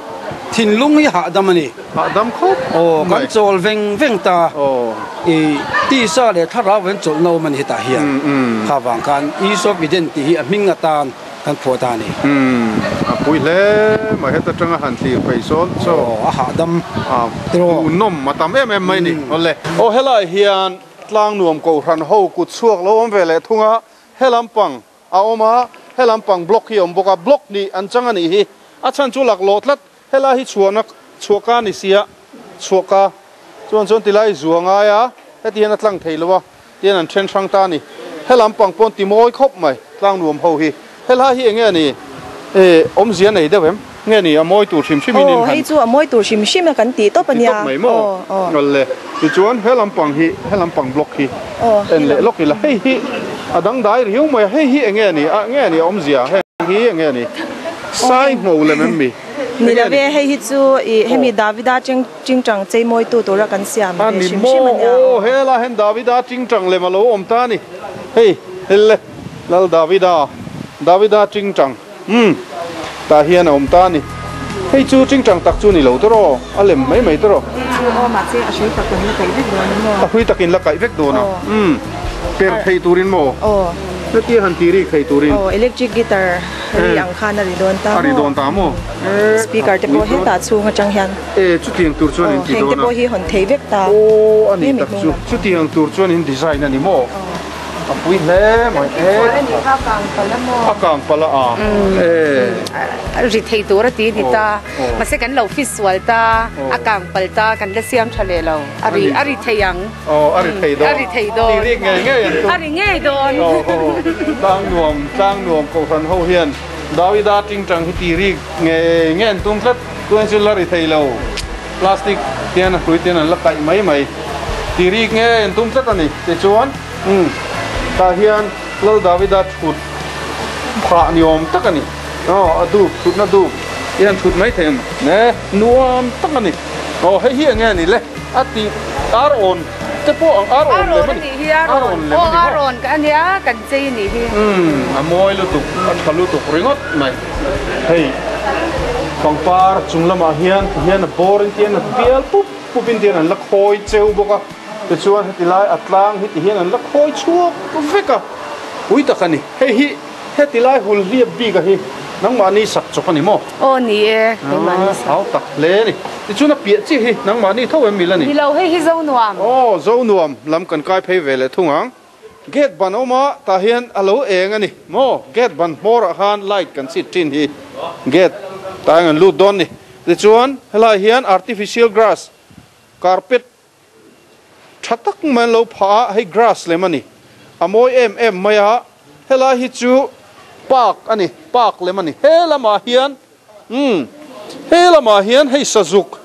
thinlung hi hahdam a ni. Hahdam khawp mai. Aw, kan chawl veng veng ta. I tisa leh thlarau an chawlhna awm a ni hetah hian. Kha vang khan East of Eden tih hi a hming atan. Kan phuah ta a ni. Umm a pui hle mai heta tanga han thlir phei sawn chaw. Aw a hahdam tiraw. Hmuhnawm a tam em em mai ni awle. Aw helai hian tlang nuam kohhran ho kut chhuak lo awm ve leh thung a, he lampang a awm a, he lampang block hi a awm bawk a, block hnih an chang a nih hi, a chhan chu laklawh tlat, helai hi chhuahna chhuahka a ni sia, chhuahka chuan chuan tilai zua ngai a, heti hian a tlang thei lo a. Tian an then hrang ta a ni. He lampang pawn ti mawi khawp mai tlang nuam ho hi. Helai hi enge a ni? E, awmzia nei deuh em? Nge ni a mawi tur hrim hrim in in Aw, hei chu a mawi tur hrim hrim a kan tih tawp a nia. Ti tawp mai maw? Aw, aw. Awle. Tichuan he lampang hi, he lampang block hi en leh lawk ila. Hei hi a dangdai riau mai a, hei hi enge a ni? A, nge a ni a awmzia? Heng hi enge a ni? Sai ngho lem em mi? Ni lo ve, hei hi chu i hemi Davida cheng Tingtang cheimawitu tura kan siam ve hrim hrim a nia. Aw hela hian Davida tingtang lem a lo awm ta a ni. Hei helle Lal Davida, Davida tingtang umm tah hian a awm ta a ni. Hei chu tingtang tak chu ni lo tawh a lem mai mai tawh. Hei chu aw mahse a hrui tak kan la kaih vek dawn a maw? A hrui tak in la kaih vek dawn a umm per thei turin maw? Aw. Hetia han ti rik thei turin. Aw electric guitar ri ang khan a ri dawn ta maw? A ri dawn ta maw? Speaker te pawh hetah chhung atang hian. E, chutiang tur chuan in ti dawn a. Heng te pawh hi hawn thei vek ta. Aw, a ni tak chu. Chutiang tur chuan in design a ni maw? A pui hle mai. E, a kang palh a maw? A kang palh a a. E. Ri thei tur a ti ni ta. Mahse kan lo fit sual ta, a kang palh ta, kan la siam tha leh lo. A ri, a ri thei ang. Aw, a ri thei dawn. A ri thei dawn. Ti rik ngei ngei an tum. A ri ngei dawn. Aw, aw. Tlang nuam, tlang nuam kohhran ho hian Davida tingtang hi ti rik ngei ngei an tum tlat. Tuan chu la ri thei lo, plastic hian a hrui ten an la kaih mai mai. Ti rik nge an tum tlat a ni. Tichuan, umm, tah hian Lal Davida thut phah ni awm tak a ni. Aw, a dup, thutna dup i han thut mai thei ang ne, nuam tak a ni. Aw, hei hi enge a ni le? A tih ar awn te pawh ang, ar awn lem a ni. Ar awn lem a ni maw? Aw, ar awn ka ania, kan chei a nih hi. Umm, a mawi lutuk, a tha lutuk ringawt mai. Hei pangpar chung lamah hian ti hian a bawr in tian a bial pup pup in tian an la khawi cheu bawk a, tichuan heti lai a tlang hi ti hian an la khawi chhuak vek a, pui tak a ni. Hei hi heti lai hul hliap bik a hi nangmahni sak chawp a ni maw? Aw ni e, keimahni sak. Hau tak hle a ni. Tichuan a piah chiah hi nangmahni tho em mil a ni? Ni lo, hei hi Zonuam. Aw Zonuam lam kan kai phei ve leh thung ang. Gate ban awm a, tah hian a lo eng a ni maw? Gate ban hmawrah khan light kan chhit thin hi gate tah hian kan lut dawn ni. Tichuan helaiah hian artificial grass carpet tha tak mai an lo phah a, hei grass lem a ni. A mawi em em mai a, helai hi chu park a ni, park lem a ni. He lamah hian umm he lamah hian hei sazuk,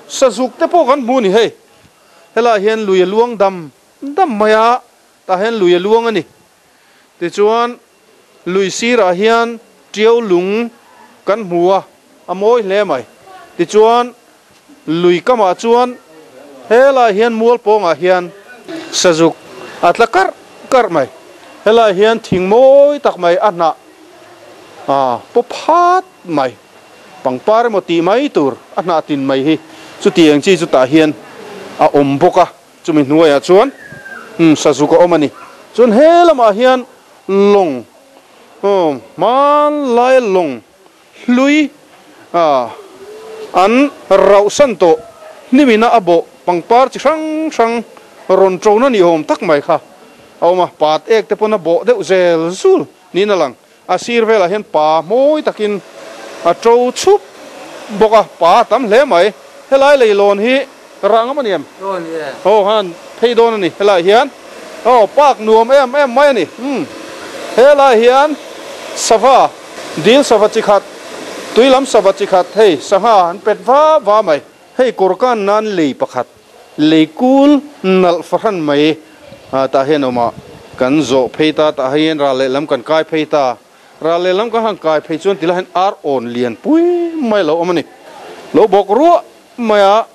sazuk te pawh kan hmu a ni hei. Helaiah hian lui a luang dam Dam mai a, tah hian lui a luang a ni. Tichuan, lui sirah hian tiau lung kan hmu a, a mawi hle mai. Tichuan, lui kamah chuan helaiah hian mual pawngah hian sazuk a tla karh karh mai. Helaiah hian thing mawi tak mai a hnah a paw phat mai. Pangpar emaw tih mai tur a hnah tin mai hi chutiang chi chutah hian a awm bawk a, chumi hnuaiah chuan umm sazuk a awm a ni. Chuan he lamah hian lawng aw hmanlaia lawng hlui ah an rauhsan tawh hnimina a bawh pangpar chi hrang hrang rawn ṭona ni awm tak mai kha a awm a, pat ek te pawn a bawh deuh zel zul niin a lang. A sir velah hian pa mawi takin a to chhup bawk a, pa a tam hle mai. Helai leilawn hi rah ngam a ni em? Aw han phei dawn a ni helaiah hian. Aw park nuam em em mai a ni. Umm helaiah hian sava, dil sava chi khat, tui lam sava chi khat hei sangha an pet va va mai. Hei kawr kan nan lei pakhat, lei kul nalh fahran mai tah hian awm a, kan zawh phei ta, tah hian ral lehlam kan kai phei ta, ral lehlam kan han kai phei chuan tilai hian ar awn lian pui mai a lo awm a ni. Lo bawk ruah mai a,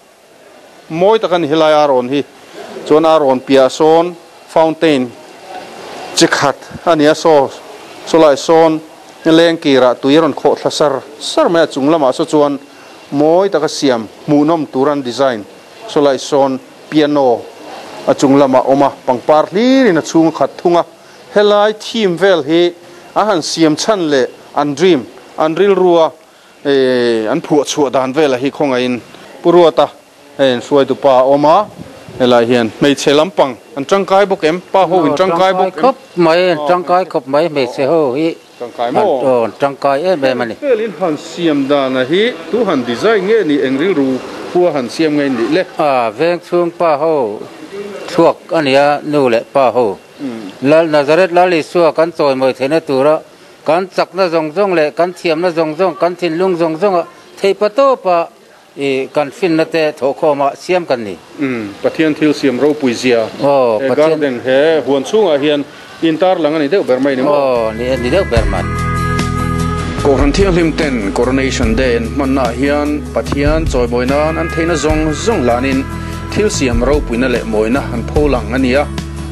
mawi tak a ni helai ar awn hi, chuan ar awn piah sawn fountain chi khat a ni a, saw sawlai sawn leng kirah tui a rawn khawh thla sar sar mai a, chung lamah saw chuan Mawi taka siam hmuhnawm tur an design sawlai sawn piano a chung lamah awm a, pangpar hlirin a chhung a khat thung a. Helai theme vel hi a han siam chhan leh an dream, an rilrua an phuah chhuah dan vela hi khawngaihin Pu Ruata hei an hruaitu pa a awm a, helai hian hmeichhe lampang an tangkai bawk em? Pa ho in tangkai bawk em? Tangkai khawp mai, an tangkai khawp mai hmeichhe ho hi. Tangkai maw? Aw, tangkai em em a ni. Felin han siam dana hi tu han design nge ni eng rilru khua han siam nge nih le? A, veng chhung pa ho thluak a nia nu leh pa ho. Lal Nazareth Lal Isua kan chawimawi theihna tura kan chakna zawng zawng leh kan thiamna zawng zawng, kan thinlung zawng zawnga theihpa tawpa I kan finna te thawhkhawma siam kan ni. Umm, Pathian thil siam ropui zia. Aw, He Pathian. garden, he huan chhungah hian intar lang a ni deuh ber mai ni maw? Aw, ni ni deuh ber mai. Kohhran Thianghlim ten Coronation Day an hmannaah hian Pathian chawimawi nan an theihna zawng zawng hlanin thil siam ropuina leh mawina an pho lang a ni a,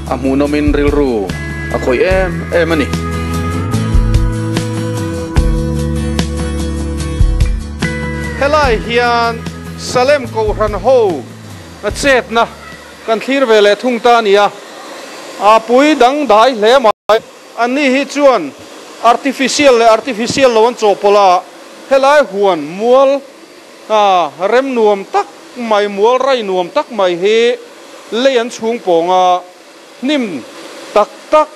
a hmuhnawmin rilru a khawih em em a ni. Helai hian Salem Kohhran ho a chetna kan thlir ve leh thung ta a ni a, a pui dang dai hle mai. Anni hi chuan artificial leh artificial lo an chawhpawlh a, helai huan mual a rem nuam tak mai, mual rai nuam tak mai hi lei an chhung pawng a, hnim tak tak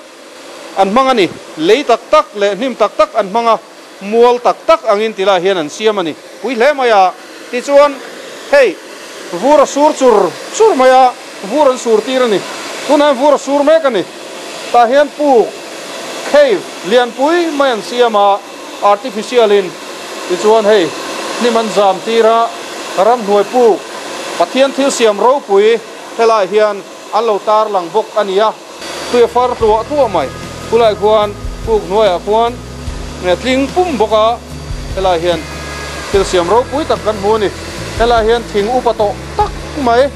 an hmang a ni. Lei tak tak leh hnim tak tak an hmang a, mual tak tak angin ti lai hian an siam a ni. Pui hle mai a, tichuan hei vur a sur chur chur mai a, vur an sur tir a ni. Tunah hian vur a sur mek a ni. Tah hian puk, cave, lianpui mai an siam a, artificial in, tichuan hei hnim an zam tir a, ramhnuai puk, Pathian thil siam ropui helaiah hian an lo tar lang bawk a ni a. Tui a far tluah tluah mai. Khulai khuan puk hnuaiah khuan tling pum bawk a, helai hian thil siam ropui tak kan hmu a ni. Helai hian thing upa tawh tak mai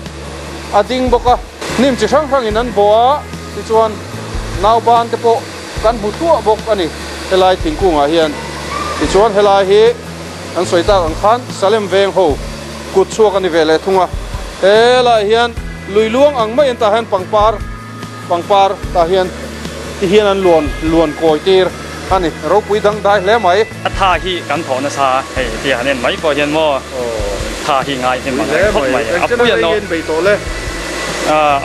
a ding bawk a, hnim chi hrang hrangin an bawh a, tichuan nauban te pawh kan hmu tluah bawk a ni helai thingkungah hian. Tichuan helai hi an sawi tak ang khan Salem veng ho kut chhuak a ni ve leh thung a, helai hian lui luang ang maiin tah hian pangpar pangpar tah hian ti hian an luan luan kawi tir a ni, ropui dang dai hle mai. A tha hi kan thawh nasa a, hei tia han en mai pawh hian maw tha hi ngai hnem ang reng khawp mai, a pui a nawh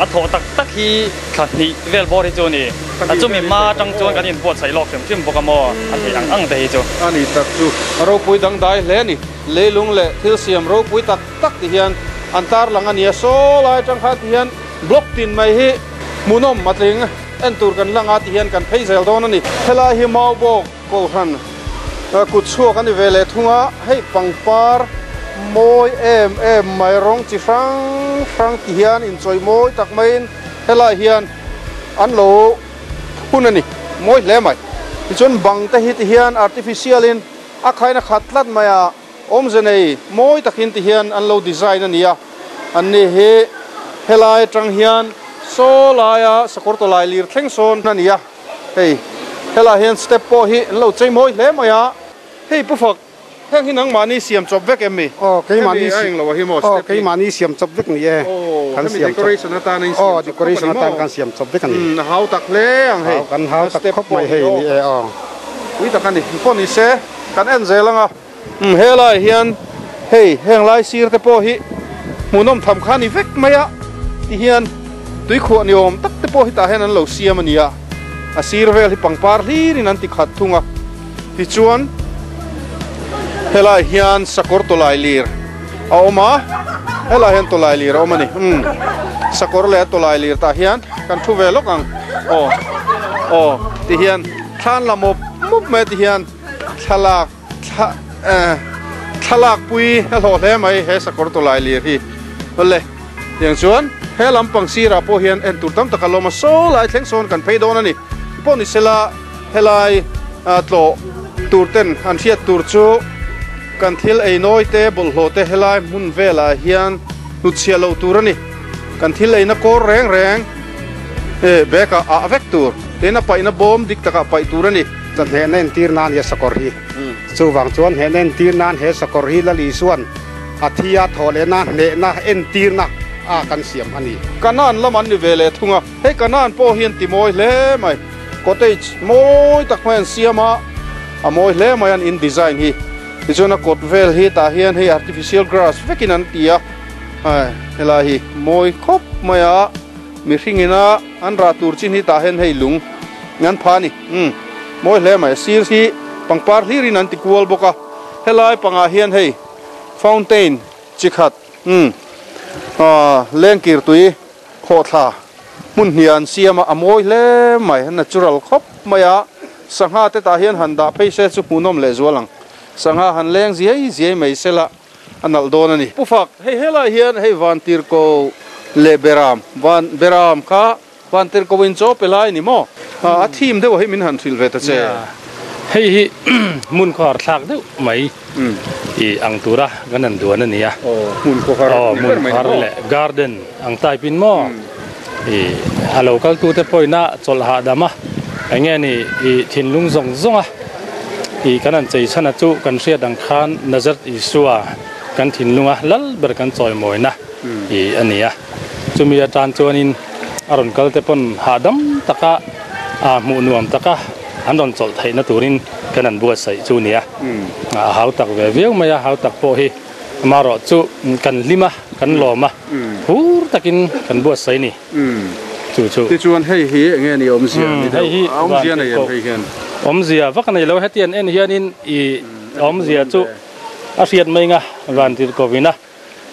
a thawh tak tak hi thla hnih vel bawr hi chu a ni, a chumi hma atang chuan kan inbuatsaih lawk hrim hrim bawk a maw a theih ang ang te hi chu. A ni tak chu a ropui dang dai hle a ni. Leilung leh thil siam ropui tak tak ti hian an tarlang a nia. Saw lai atang khan ti hian block tin mai hi hmuhnawm a tling en tur kan lang a ti hian kan phei zel dawn a ni. Helai hi Maubawk Kohhran kut chhuak a ni ve leh thung a, hei pangpar mawi em em mai rawng chi hrang hrang ti hian inchawih mawi tak maiin helai hian an lo phun a ni, mawi hle mai. Tichuan bang te hi ti hian artificial in A khaina khat tlat mai a, awmze nei mawi takin ti hian an lo design a ni a, anni hi helai atang hian saw laia sakawr tawlai lir thleng sawn a ni a, hei helaiah hian step pawh hi an lo chei mawi hle mai a, hei pu fak Heng hi nangmahni siam chawp vek em mi? Aw keimahni Hemi a englo a hi maw aw step hi? keimahni siam chawp vek ni e. Aw Kan hemi siam chawp decoration atana in siam aw chawp khawp a decoration ni atan maw? kan siam chawp vek a ni. Umm a hau tak hle ang hei Hau kan hau a tak step khawp pawh mai hi hei aw ni e aw. Pui tak a ni pawh ni se kan en zel ang a umm helai hian hei heng lai sir te pawh hi hmuhnawm tham kha a ni vek mai a ti hian tuikhuah ni awm tak te pawh hi tah hian an lo siam a ni a a sir vel hi pangpar hlir in an ti khat thung a. Tichuan, helai hian sakawr tawlai lir a awm a, helai hian tawlai lir a awm a ni. Umm, sakawr leh a tawlai lir tah hian kan thu ve lawk ang. Aw, aw, ti hian thlan la mawp mawp mai a ti hian thlalak thla eh thlalak pui a hlawh hle mai he sakawr tawlai lir hi. Awle, tiang chuan he lampang sirah pawh hian en tur tam tak a lawm a, saw lai thleng sawn kan phei dawn a ni. Pawh ni sela. Helai tlawh tur ten an hriat tur chu kan thil ei nawi te bawlhhlawh te helai hmun velah hian hnutchhiah loh tur a ni. Kan thil eina kawr reng reng bag ah ah vek tur tin a paihna bawm dik takah paih tur a ni. Hnehna entir nan he sakawr hi chuvang chuan hnehna entir nan he sakawr hi Lal Isuan a thi a thawh lehna hnehna entirna a kan siam a ni. Kanan lam an ni ve leh thung a, hei Kanan pawh hi an ti mawi hle mai. Cottage mawi tak mai an siam a, a mawi hle mai an in design hi. Tichuan a kawt vel hi tah hian hei artificial grass vekin an ti a, hai helai hi mawi khawp mai a, mihring ina an rah tur chin hi tah hian hei lung an pha a ni. Umm mawi hle mai, sir hi pangpar hlirin an ti kual bawk a, helai pangah hian hei fountain chi khat umm ah lengkir tui Khawhthla hmun hnih an siam a, a mawi hle mai, a natural khawp mai a, sangha te tah hian han dah phei se chu hmuhnawm leh zual ang, sangha han leng ziai ziai mai se la a nalh dawn a ni. Pu Fak, hei helai hian hei Vantirhko leh Beram, Van Beram kha Vantirhko in chaw pe lai a ni maw? A thim deuh hi min han hrilh ve ta che. Hei hi hmun khawhar thlak deuh mai. I ang tura kan han duan a ni a. Hmun khawhar ni ber mai ni maw? Leh garden ang type in maw? I a lo kal tute pawhin a chawlh hahdam a, eng nge ni i thinlung zawng zawng a i kan han chei chhan a chu kan hriat ang khan Nazareth Isua kan thinlunga lal ber kan chawimawina i a ni a. Chumi atan chuanin a rawn kal te pawn hahdam taka hmuh nuam taka an rawn chawlh theihna turin kan han buatsaih chu nia. A hau tak ve viau mai a, hau tak pawh hi amaherawh chu kan hlim a, kan lawm a, phur takin kan buatsaih ni. Chu chu. Tichuan hei hi eng nge ni awmzia ni deuh? A awmzia nei em hei hian? Awmzia vak a nei lo, heti an en hianin i awmzia chu a hriat mai nga Vantirhkovina.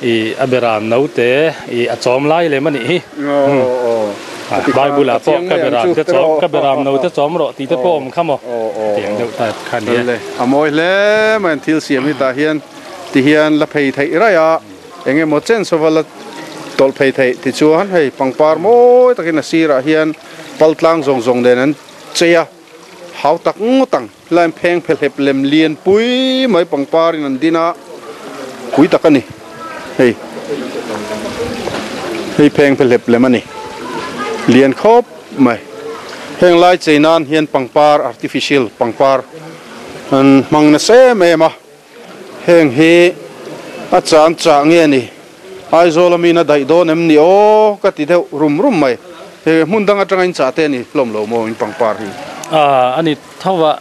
I a beram naute i a chawm lai lem a nih hi. Bible ah pawh ka beram te chawm ka beram naute chawm rawh tih te pawh awm kha maw tiang deuh type kha a ni e. A mawi hle mai an thil siam hi tah hian ti hian la phei theih raih a eng emaw chen sova la tawlh phei theih tichuan hei pangpar mawi takin a sirah hian pal tlang zawng zawng nen an chei a hau tak ngawt ang. Line pheng phehlep lem lian pui mai pangpar in an din a, pui tak a ni hei hei pheng phehlep lem a ni lian khawp mai heng lai chei nan hian pangpar artificial pangpar an hmang nasa em em a heng hi a chan chah nge ni Aizawl a min a daih dawn em ni aw ka ti deuh rum rum mai he hmun dang atanga in chah te a ni hlawm lo maw in pangpar hi. A ni tho a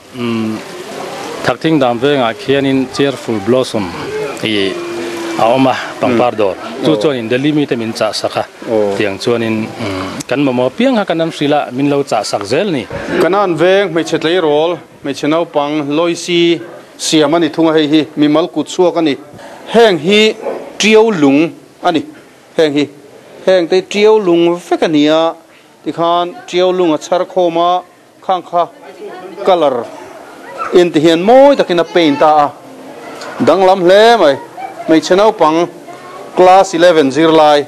Thakthing dam vengah khianin Cheerful Blossom tih a awm a pangpar dawr chu chuanin Delhi mite min chah sak a tiang chuanin kan mamawh piang kha kan an hrilh a min lo chah sak zel ni. Kanan veng hmeichhe tleirawl hmeichhe naupang Loisi siam a ni thung a hei hi mimal kut chhuak a ni. Heng hi tiau lung a ni. Heng hi heng te tiau lung vek a ni a tikhan tiau lung a chhar khawm a Khang kha colour in ti hian mawi takin a paint a a danglam hle mai. Hmeichhe naupang class 11 zirlai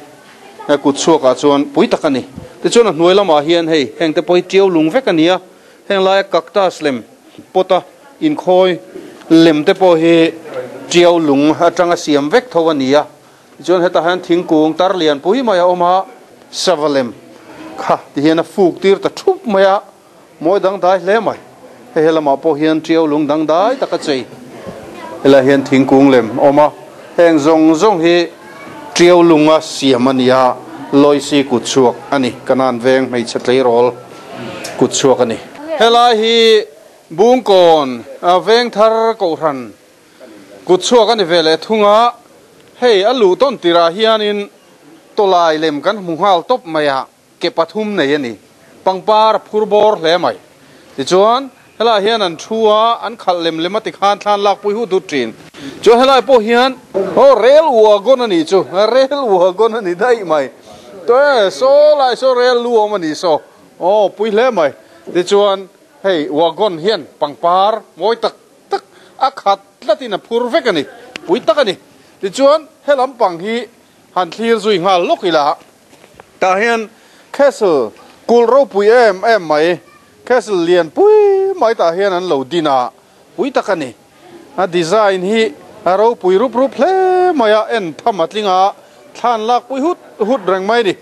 kut chhuakah chuan pui tak a ni. Tichuan a hnuai lamah hian hei heng te pawh hi tiau lung vek a ni a, heng laia cactus lem pot a inkhawi lem te pawh hi tiau lung atanga siam vek tho a ni a. Tichuan hetah hian thingkung tar lian pui mai a awm a, sava lem kha ti hian a fuk tir ta thup mai a, mawi dangdai hle mai. Hei he lamah pawh hian tiau lung dangdai tak a chei. Helaiah hian thingkung lem a awm a, heng zawng zawng hi Tiau lunga siam a ni a, Loisi kut chhuak a ni. Kanan veng hmeichhe tleirawl kut chhuak a ni. Helai hi Bungkawn veng thar kohhran kut chhuak a ni ve leh thung a, hei a luh tawn tirah hianin tawlai lem kan hmu nghal tawp mai a. Ke pathum nei a ni. Pangpar a phur bawr hle mai. Tichuan, helaiah hian an thu a, an khalh lem lem a tikhan thlan lakpui hut hut thin. Chuan helai pawh hian, aw rel wagon a nih chu, rel wagon a ni daih mai. Tawh e, saw lai saw rel lu awm a nih saw, aw pui hle mai. Tichuan, hei wagon hian pangpar mawi tak tak a khat tlatin a phur vek a ni, pui tak a ni. Tichuan, he lampang hi han thlir zui nghal lawk ila. Tah hian Castle kulh ropui em em mai, Castle lian pui mai tah hian an lo din a, pui tak a ni. A design hi a ropui rup rup hle mai a, en tham a tling a, thlan lak pui hut hut reng mai a ni.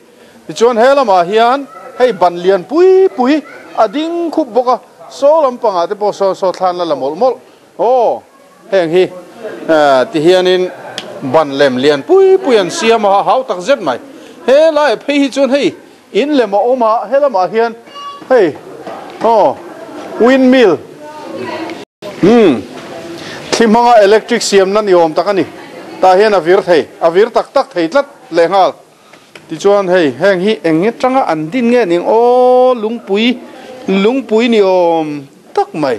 Tichuan he lamah hian hei ban lian pui pui a ding khup bawk a, saw lampangah te pawh saw saw thlan la la mawlh mawlh. Aw, heng hi ti hianin ban lem lian pui pui an siam a, hau tak zet mai. He laiah phei hi chuan hei in lem a awm a, he lamah hian hei aw windmill umm thli hmanga electric siamna ni awm tak a ni. Tah hian a vir thei, a vir tak tak thei tlat lehnghal. Tichuan hei heng hi eng atanga an din nge ning aw lungpui lungpui ni awm tak mai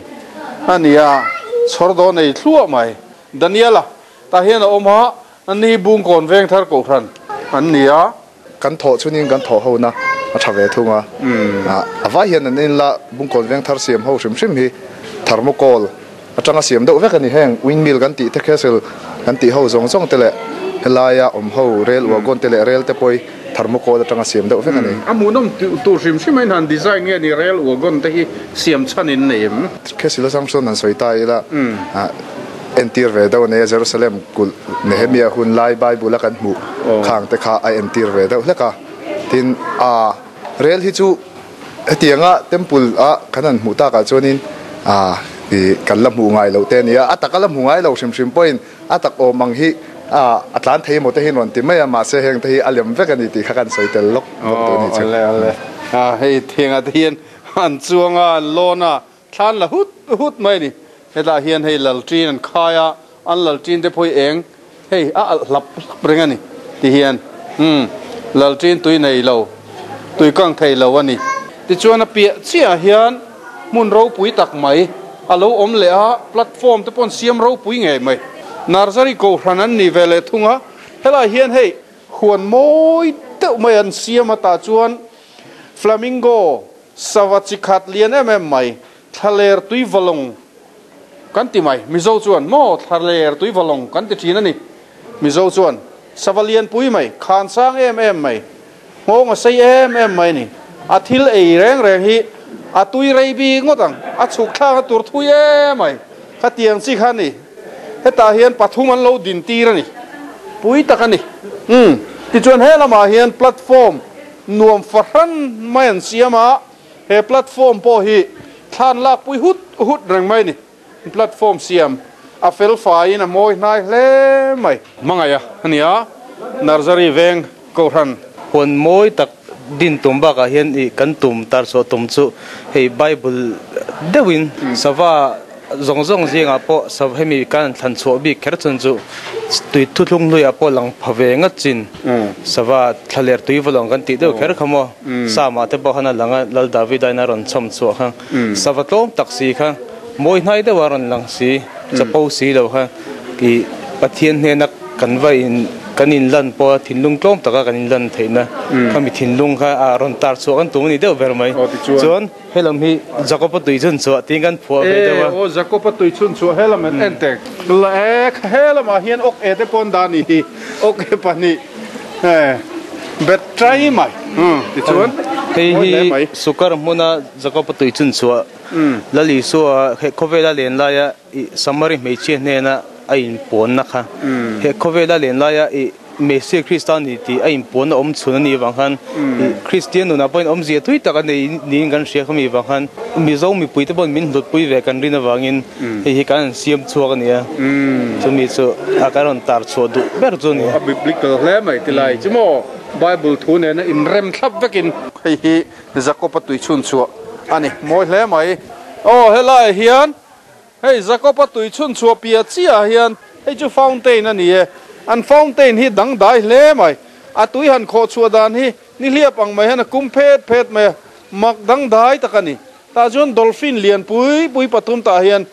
a ni a chhawr dawn ei thluah mai Daniela tah hian a awm a ani Bungkawn Vengthar Kohhran an ni a. Kan thawh chhunin kan thawh ho na a tha ve thung a, a vai hian an inla Bungkawn Vengthar siam ho hrim hrim hi thermocol atanga siam deuh vek a ni. Heng windmill kan tih te castle kan tih ho zawng zawng te leh helaia awm ho rail wagon te leh rail te pawh hi thermocol atanga siam deuh vek a ni. A hmuhnawm tur hrim hrim a inhan design nge ni rail wagon te hi siam chhan in nei em? Castle atang chuan han sawi ta ila entir ve deuh a nei a, Jerusalem kulh Nehemia hun lai Bible a kan hmuh khang te kha a entir ve deuh hlek a. Tin, a rail hi chu Hetianga temple a kan han hmuh takah chuanin ah ih kan la hmuh ngai loh te a ni a, a taka la hmu ngai lo hrim hrim pawhin a tak awm ang hi ah a tlan thei emaw te hi rawn ti mai a, mahse heng te hi a lem vek a ni tih kha kan sawi tel lawk bawk tur a ni chu. Awle awle ah hei thiangah te hian an chuang a, an lawn a, thlan la hut hut mai a ni. Hetah hian hei lalṭin an khai a, an lalṭin te pawh hi eng hei a alh hlap hlap reng a ni ti hian umm lalṭin tui nei lo, tui kang thei lo a ni. Tichuan a piah chiah hian hmun ropui tak mai a lo awm leh a, platform te pawh an siam ropui ngei mai. Nursery kohhran an ni ve leh thung a, helaiah hian hei huan mawi deuh mai an siam a, tah chuan flamingo sava chi khat lian em em mai Thlaler tui valawng kan ti mai. Mizo chuan maw thlaler tui valawng kan ti thin a ni. Mizo chuan sava lian pui mai, khan sang em em mai, nghawng a sei em em mai a ni. A thil ei reng reng hi a tui rei bik ngawt ang, a chhuk thlak a tur thui em mai. Khatiang chi kha a ni. Hetah hian pathum an lo din tir a ni. Pui tak a ni. Umm. Tichuan he lamah hian platform nuam fahran mai an siam a. He platform pawh hi thlan lakpui hut hut reng mai a ni. Platform siam a fel faiin a mawi hnai hle mai. Hmangaih a ni a, Nursery veng Kohhran. Huan mawi tak din tum bakah hian ih kan tum tar chhuah tum chu hei Bible deuhin sava Zawng zawng zingah pawh sava hemi kan thlan chhuah bik kher chun chu tui thuthlung hluiah pawh lang pha ve ngat chin sava thlaler tui valawng kan tih deuh kher kha maw Sama te pawh khan a lang a Lal Davida in a rawn chhawm chhuah kha sava tlawm tak si kha mawi hnai deuh a rawn lang si chapo si lo kha ih Pathian hnena kan va in kan in lan pawh a thinlung tlawm taka kan in lan theihna khami thinlung kha a rawn tar chhuah kan tum a ni deuh ber mai chuan He lam hi Jakob-a tui chhun chhuah tiin kan phuah ve deuh a. E aw Jakob-a tui chhun chhuah he lam en tek. La e he lamah hian awk e te pawn dah a ni hi. Awk e pahnih e bet trai mai. Tichuan Hei hi Sukar hmuna Jakob-a tui chhun chhuah Lal Isua he khawvela len laia i Samari hmeichhia hnena a inpawnna kha. He khawvela len laia i. Messia Krista a ni tih a inpuanna awm chhun a nih avang khan Kristian nunah pawhin awmzia tui tak a nei niin kan hria khami avang khan Mizo mipuite pawhin min hlutpui ve kan rin avangin hei hi kan han siam chhuak a ni a, chumi chu a kan rawn tar chhuah duh ber chu a ni. A biblical hle mai ti lai chu maw Bible thu nena inrem thlap vekin. Hei hi Jakob-a tui chhun chhuah a ni mawi hle mai. Aw helaiah hian Hei Jakob-a tui chhun chhuah piah chiah hian hei chu fountain a ni e. An fountain hi dangdai hle mai. A tui han khawh chhuah dan hi nihliap ang mai hian a kum phet phet mai a, mak dangdai tak a ni. Tah chuan dolphin lian pui pui pathum tah hian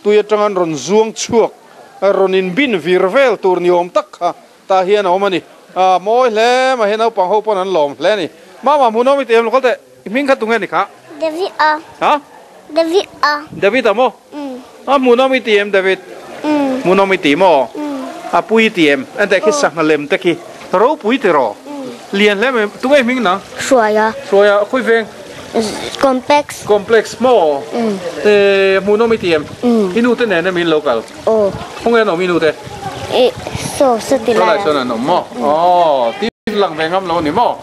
tui atang an rawn zuang chhuak, rawn inbin vir vel tur ni awm tak kha tah hian a awm a ni. A mawi hle mai, hei naupang ho pawn an lawm hle a ni. Mama hmuhnawm i ti em lo kal teh. I hming kha tunge ni kha? David a. Ha? David a. David a maw? Um. A hmuhnawm i ti em David? Um. Hmuhnawm i ti maw? Um. A pui i ti em? Enteh khi sangha lem te khi ropui ti rawh. Um. Lian hle mai. Tunge i hming nang? Hruaia. Hruaia khawi veng? Complex. Complex maw? Um. Eh hmuhnawm i ti em? Um. I nu te nen em in lo kal? Aw. Khawnge an awm i nu te? Eh saw saw ti lai. Saw lai sawn an awm maw? Aw. Lang ve ngam lo ni maw?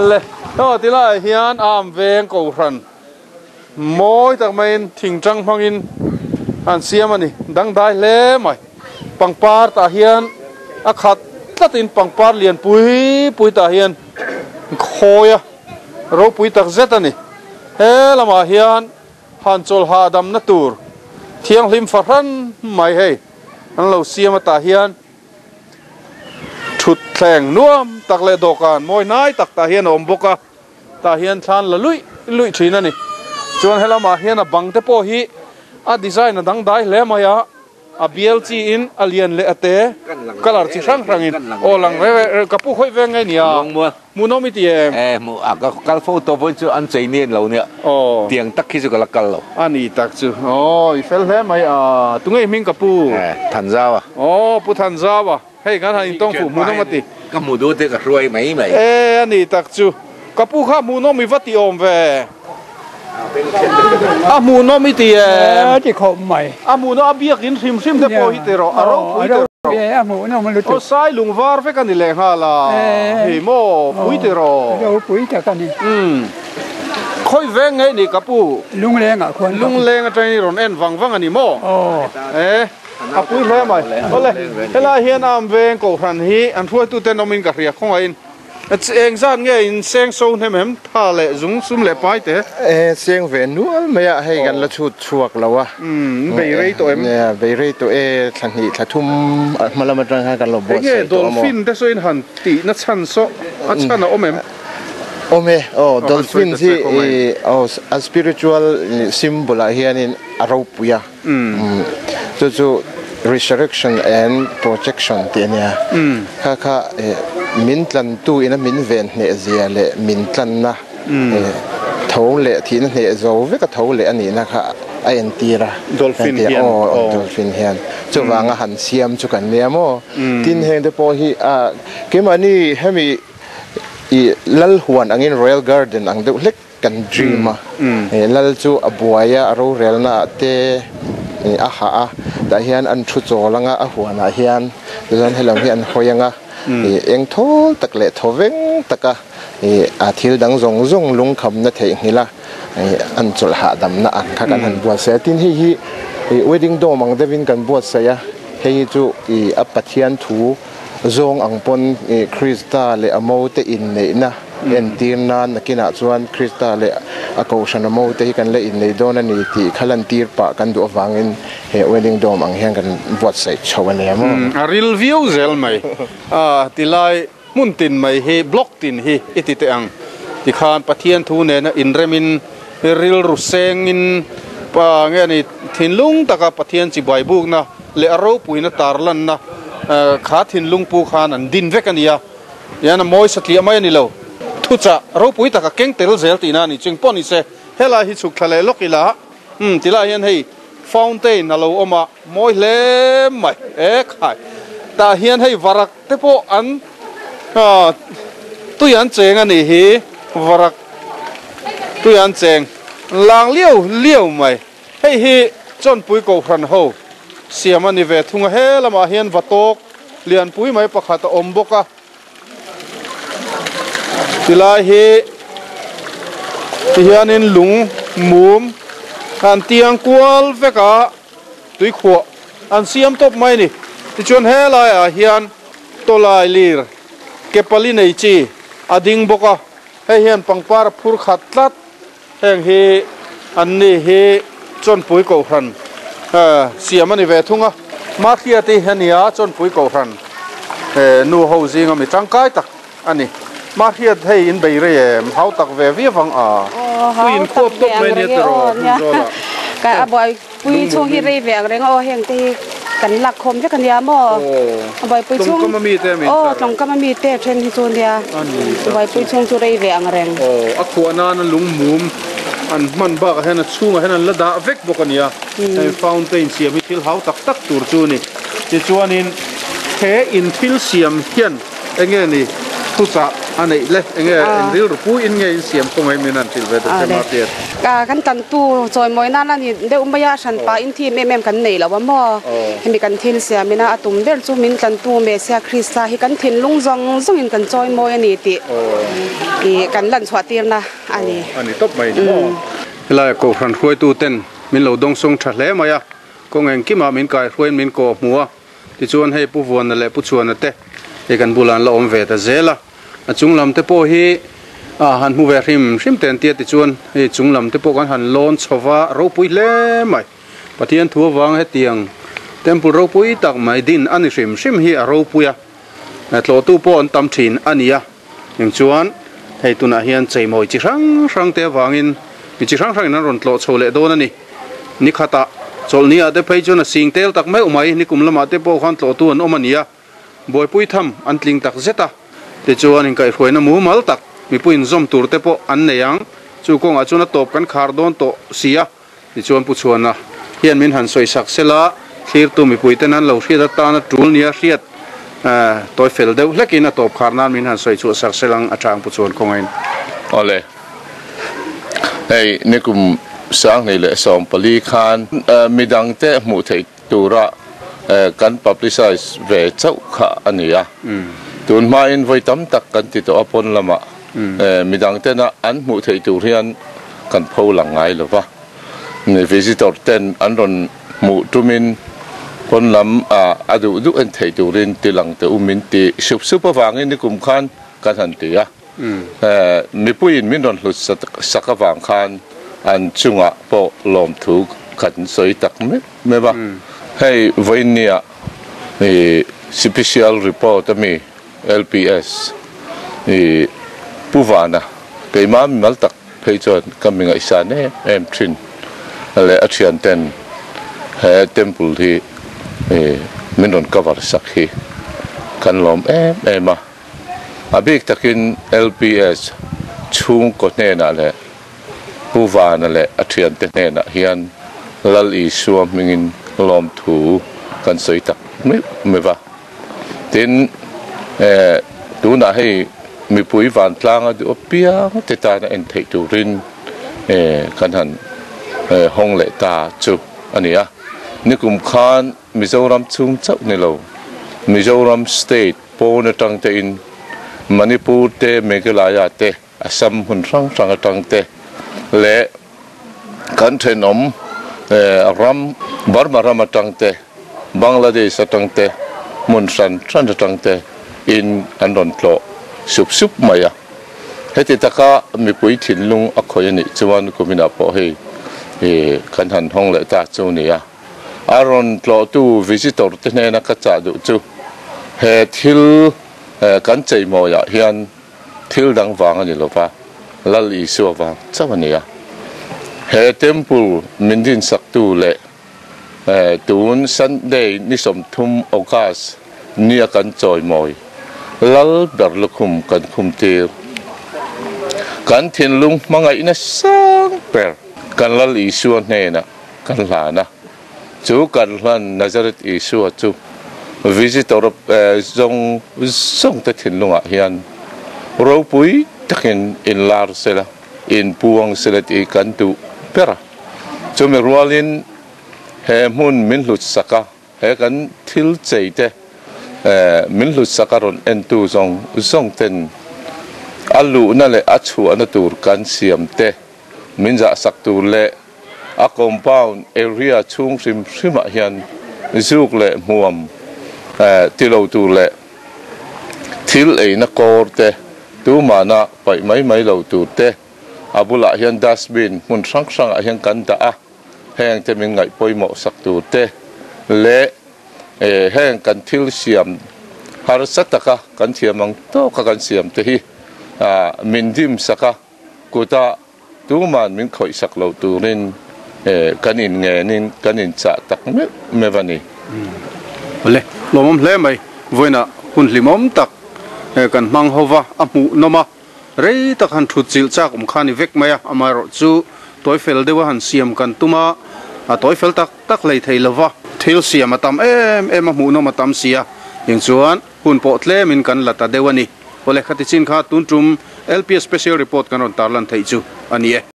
Le aw ti laiah hian am veng kohhran mawi tak maiin thingtang hmangin an siam a ni. Dangdai hle mai. Pangpar tah hian a khat tlatin pangpar lian pui pui tah hian khawi a ropui tak zet a ni. He lamah hian han chawl hahdamna tur thianghlim fahran mai hei an lo siam a tah hian. Thutthleng nuam tak leh dawhkan mawi hnai tak tah hian a awm bawk a, tah hian thlan la luih luih thin a ni. Chuan helamah hian a bang te pawh hi a design a dangdai hle mai a, a bial chi in a lian leh a te colour chi hrang hrang in aw lang reng reng ka pu khawih veng nge nia hmuhnawm i ti em? E hmuh a ka kal fo tawh pawhin chu an chei nen lo nia tiang tak khi chu ka la kal lo. A ni tak chu aw i fel hle mai a tunge i hming ka pu? E Thanzau a. Aw pu Thanzau a hei kan han intawng fuh hmuhnawm a ti. Ka hmu duh te ka hruai mai mai. E a ni tak chu ka pu kha hmuhnawm i va ti awm ve. A hmuhnawm i ti em? A ti khawp mai. A hmuhnawm a biakin hrim hrim te pawh hi ti rawh, a ropui ti rawh. A hmuhnawm lutuk. Aw sai lung var vek a ni leh nghal a, hei maw pui ti rawh. Ropui tak a ni. Umm. Khawi veng nge ni ka pu? Lungleng ah khuan. Lungleng atangin i rawn en vang vang a ni maw? Aw. E, a pui hle mai. Awle, helai hian am veng kohhran hi an hruaituten awmin ka hria khawngaihin. Eng zat nge in seng so hnem em? Tha leh zung sum leh pai te. E seng ve nual mai a, hei kan la chhut chhuak lo a. Umm, bei rei tawh em? Nia, bei rei tawh e, thla hnih thla thum hma lam atang khan kan lo buatsaih tawh a maw. Enge dolphin te saw in han tih na chhan saw a chhan a awm em? Awm e, aw dolphin hi aw a spiritual symbol ah hianin a ropui a. Chu chu resurrection and protection tih a nia. Kha kha min tlantu ina min ven hneh zia leh min tlanna tho leh thihna hneh zo veka tho leh a nihna kha a entir a. Dolphin hian. Aw dolphin hian. Chuvanga han siam chu kan nia maw. Tin heng te pawh hi keimahni hemi lal huan angin royal garden ang deuh hlek Kan dream a, Lal chu a buai a, a rorelna ah te a hah a, tah hian an thu chawl anga a huan ah hian tichuan helam hi an hawi anga eng thawl tak leh thaw veng taka a thil dang zawng zawng lungkhamna theihnghilh a an chawlh hahdamna ang kha kan han buatsaih a, tin hei hi wedding dome ang deuhin kan buatsaih a, hei hi chu a Pathian thu Zawng ang pawn Krista leh a mote inneihna entir nan nakinah chuan Krista leh a kohhran a mote hi kan la innei dawn a ni tih kha lantir pah kan duh avangin he wedding dome ang hian kan buatsaih chho a nia maw? A ril viau zel mai. A tilai hmun tin mai hi block tin hi i ti teh ang. Tikhan Pathian thu nena inremin rilru sengin pa nge ni thinlung taka Pathian chibai bukna leh a ropuina tarlanna kha thinlung pu khan an din vek a ni a, tihian a mawi satliah mai a ni lo. Thuchah ropui taka keng tel zel tihna a ni ching pawh ni se, helai hi chhuk thla leh lawk ila, umm tilai hian hei fountain a lo awm a, mawi hle mai, e khai, tah hian hei varak te pawh an tui an cheng a nih hi, varak tui an cheng lang liau liau mai. Hei hi Chawnpui Kohhran ho siam a ni ve thung a, he lamah hian va tawk Lianpui mai pakhat a awm bawk a. Tilai hi tihianin lung mum an tiang kual vek a, tuikhuah an siam tawp mai a ni. Tichuan helaiah hian tawlai lir ke pali nei chi a ding bawk a, hei hian pangpar a phur khat tlat. Heng hi an ni hi Chawnpui Kohhran siam a ni ve thung a, Mahriati a ni a, Chawnpui Kohhran nu ho zinga mi tangkai tak a ni. Mahriat hei in bei rei em? Hau tak ve viau ang a, pui in khuap tawp mai nia tiraw hmun zawlah. Ka a buaipui chhung hi rei ve ang reng a aw heng te hi kan lak khawm vek a nia maw? A buaipui chhung Tlawngkam a mi te min aw tlawngkam a mi te then hi chu nia buaipui chhung chu rei ve ang reng. Aw a khuah nana lung mum an hman bakah hian a chhungah hian an la dah vek bawk a nia. Hei fountain siam hi thil hau tak tak tur chu a ni. Tichuanin he in thil siam hian Enge ni thuchah a neih le? Enge eng rilru pu in nge in siam kawng em in an hrilh ve ta che Martiat? Kan tantu chawimawi nan a ni deuh mai a, hranpa in thim em em kan nei lo a maw? Hemi kan thil siam ina a tum ber chu min tlantu Messiah Krista hi kan thinlung zawng zawng in kan chawimawi a ni tih ih kan lan chhuah tirna a ni. A ni tawp mai ni maw? Helai Kohhran hruaitu ten min lo dawngsawng tha hle mai a, kawng engkimah min kaihruaiin min kawh hmu a. Tichuan hei Pu Vuana leh Pu Chhuana te hei kan bulah an la awm ve ta zel a, a chung lam te pawh hi ah han hmu ve hrim hrim te an tia tichuan hei chung lam te pawh kan han lawn chho va ropui hle mai. Pathian thu avang hetiang temple ropui tak mai din a ni hrim hrim hi a ropui a, tlawhtu pawh an tam thin a ni a, eng chuan hei tunah hian cheimawi chi hrang hrang te avangin mi chi hrang hrangin an rawn tlawh chho leh dawn a ni. Ni khatah chawlhni ah te phei chuan a sing tel tak meuh mai, nikum lamah te pawh khan tlawhtu an awm a ni a, buaipui tham an tling tak zet a, tichuan inkaihhruaina mumal tak mipui inzawm tur te pawh an nei ang, chu kawngah chuan a tawp kan khar dawn tawh si a, tichuan Pu Chhuana hian min han sawisak sela, thlirtu mipui ten an lo hriat atana tul nia hriat tawi fel deuh hlekin a tawp khar nan min han sawi chhuah sak selang a chang Pu Chhuan khawngain. Awle. Hei nikum 2024 khan midangte hmuh theih tura kan publicise ve chauh kha a ni a. Tun hmain vawi tam tak kan ti tawh a pawn lamah midangtena an hmuh theih tur hian kan pho lang ngai lo va. Visitor ten an rawn hmuh tumin pawn lam a duh duh en theih turin ti lang teh u min ti sup sup avangin nikum khan kan han ti a. Mipuiin min rawn hlut sak avang khan an chungah pawh lawmthu kan sawi tak meuh meuh a. Hei vawiinnia Sipisial Report ami LPS Pu Vana keimah mimal tak phei chuan ka mi ngaihsan em em thin leh a thian ten he temple hi min rawn cover sak hi kan lawm em em a. A bik takin LPS chhungkaw hnenah leh Pu Vana leh a thiante hnenah hian Lal Isua hmingin lawmthu kan sawi tak meuh meuh a. Tin, tunah hei mipui vantlanga duh apiang te tana en theih turin kan han hawng leh ta chu a ni a. Nikum khan Mizoram chhung chauh ni lo, Mizoram state pawn atang tein Manipur te, Meghalaya te, Assam hmun hrang hrang atang te leh kan thenawm ram Burma ram atang te, Bangladesh atang te, hmun hran hran atang te in an rawn tlawh sup sup mai a. Heti taka mipui thinlung a khawih a nih chuan kuminah pawh hei kan han hawng leh ta chu a ni a. A rawn tlawhtu visitor te hnena ka chah duh chu he thil kan cheimawiah hian thil dang vang a ni lova, Lal Isua vang chauh a ni a. He temple min dinsaktu leh tun Sunday ni 30 August nia kan chawimawi Lal ber lukhum kan khumtir kan thinlung hmangaihna sang ber kan Lal Isua hnenah Kan hlan a, chu kan hlan Nazareth Isua chu visitor zawng zawng te thinlungah hian ropui takin inlar sela, inpuang sela tih kan duh ber a. Chumi rualin he hmun min hlut sak a, he kan thil chei te Min hlutsak a rawn entu zawng zawng ten a luhna leh a chhuahna tur kan siam te min zahsak tur leh a compound area chhung hrim hrimah hian zuk leh hmuam ti lo tur leh thil eina kawr te tumahna paih mai mai lo tur te a bulah hian dustbin hmun hrang hrangah hian kan dah a, heng te min ngaih pawimawh sak tur te leh heng kan thil siam harsa taka kan thiam ang tawka kan siam te hi min dim sak a, kuta tuman min khawih sak lo turin kan in ngenin kan in chah tak meuh meuh a ni. Awle, lawmawm hle mai. Vawiinah hun hlimawm tak kan hmang ho va, a hmuhnawm a. Rei tak han thut chilh chak awm kha a ni vek mai a, amaherawh chu tawi fel deuha han siam kan tum a, a tawi fel tak tak hlei thei lo va. Thil siam a tam em em a, hmuhnawm a tam si a, tiang chuan hun pawh tlemin kan la ta deuh a ni. Awle, khati chin kha tun tum LPS Special Report kan rawn tarlan theih chu a ni e.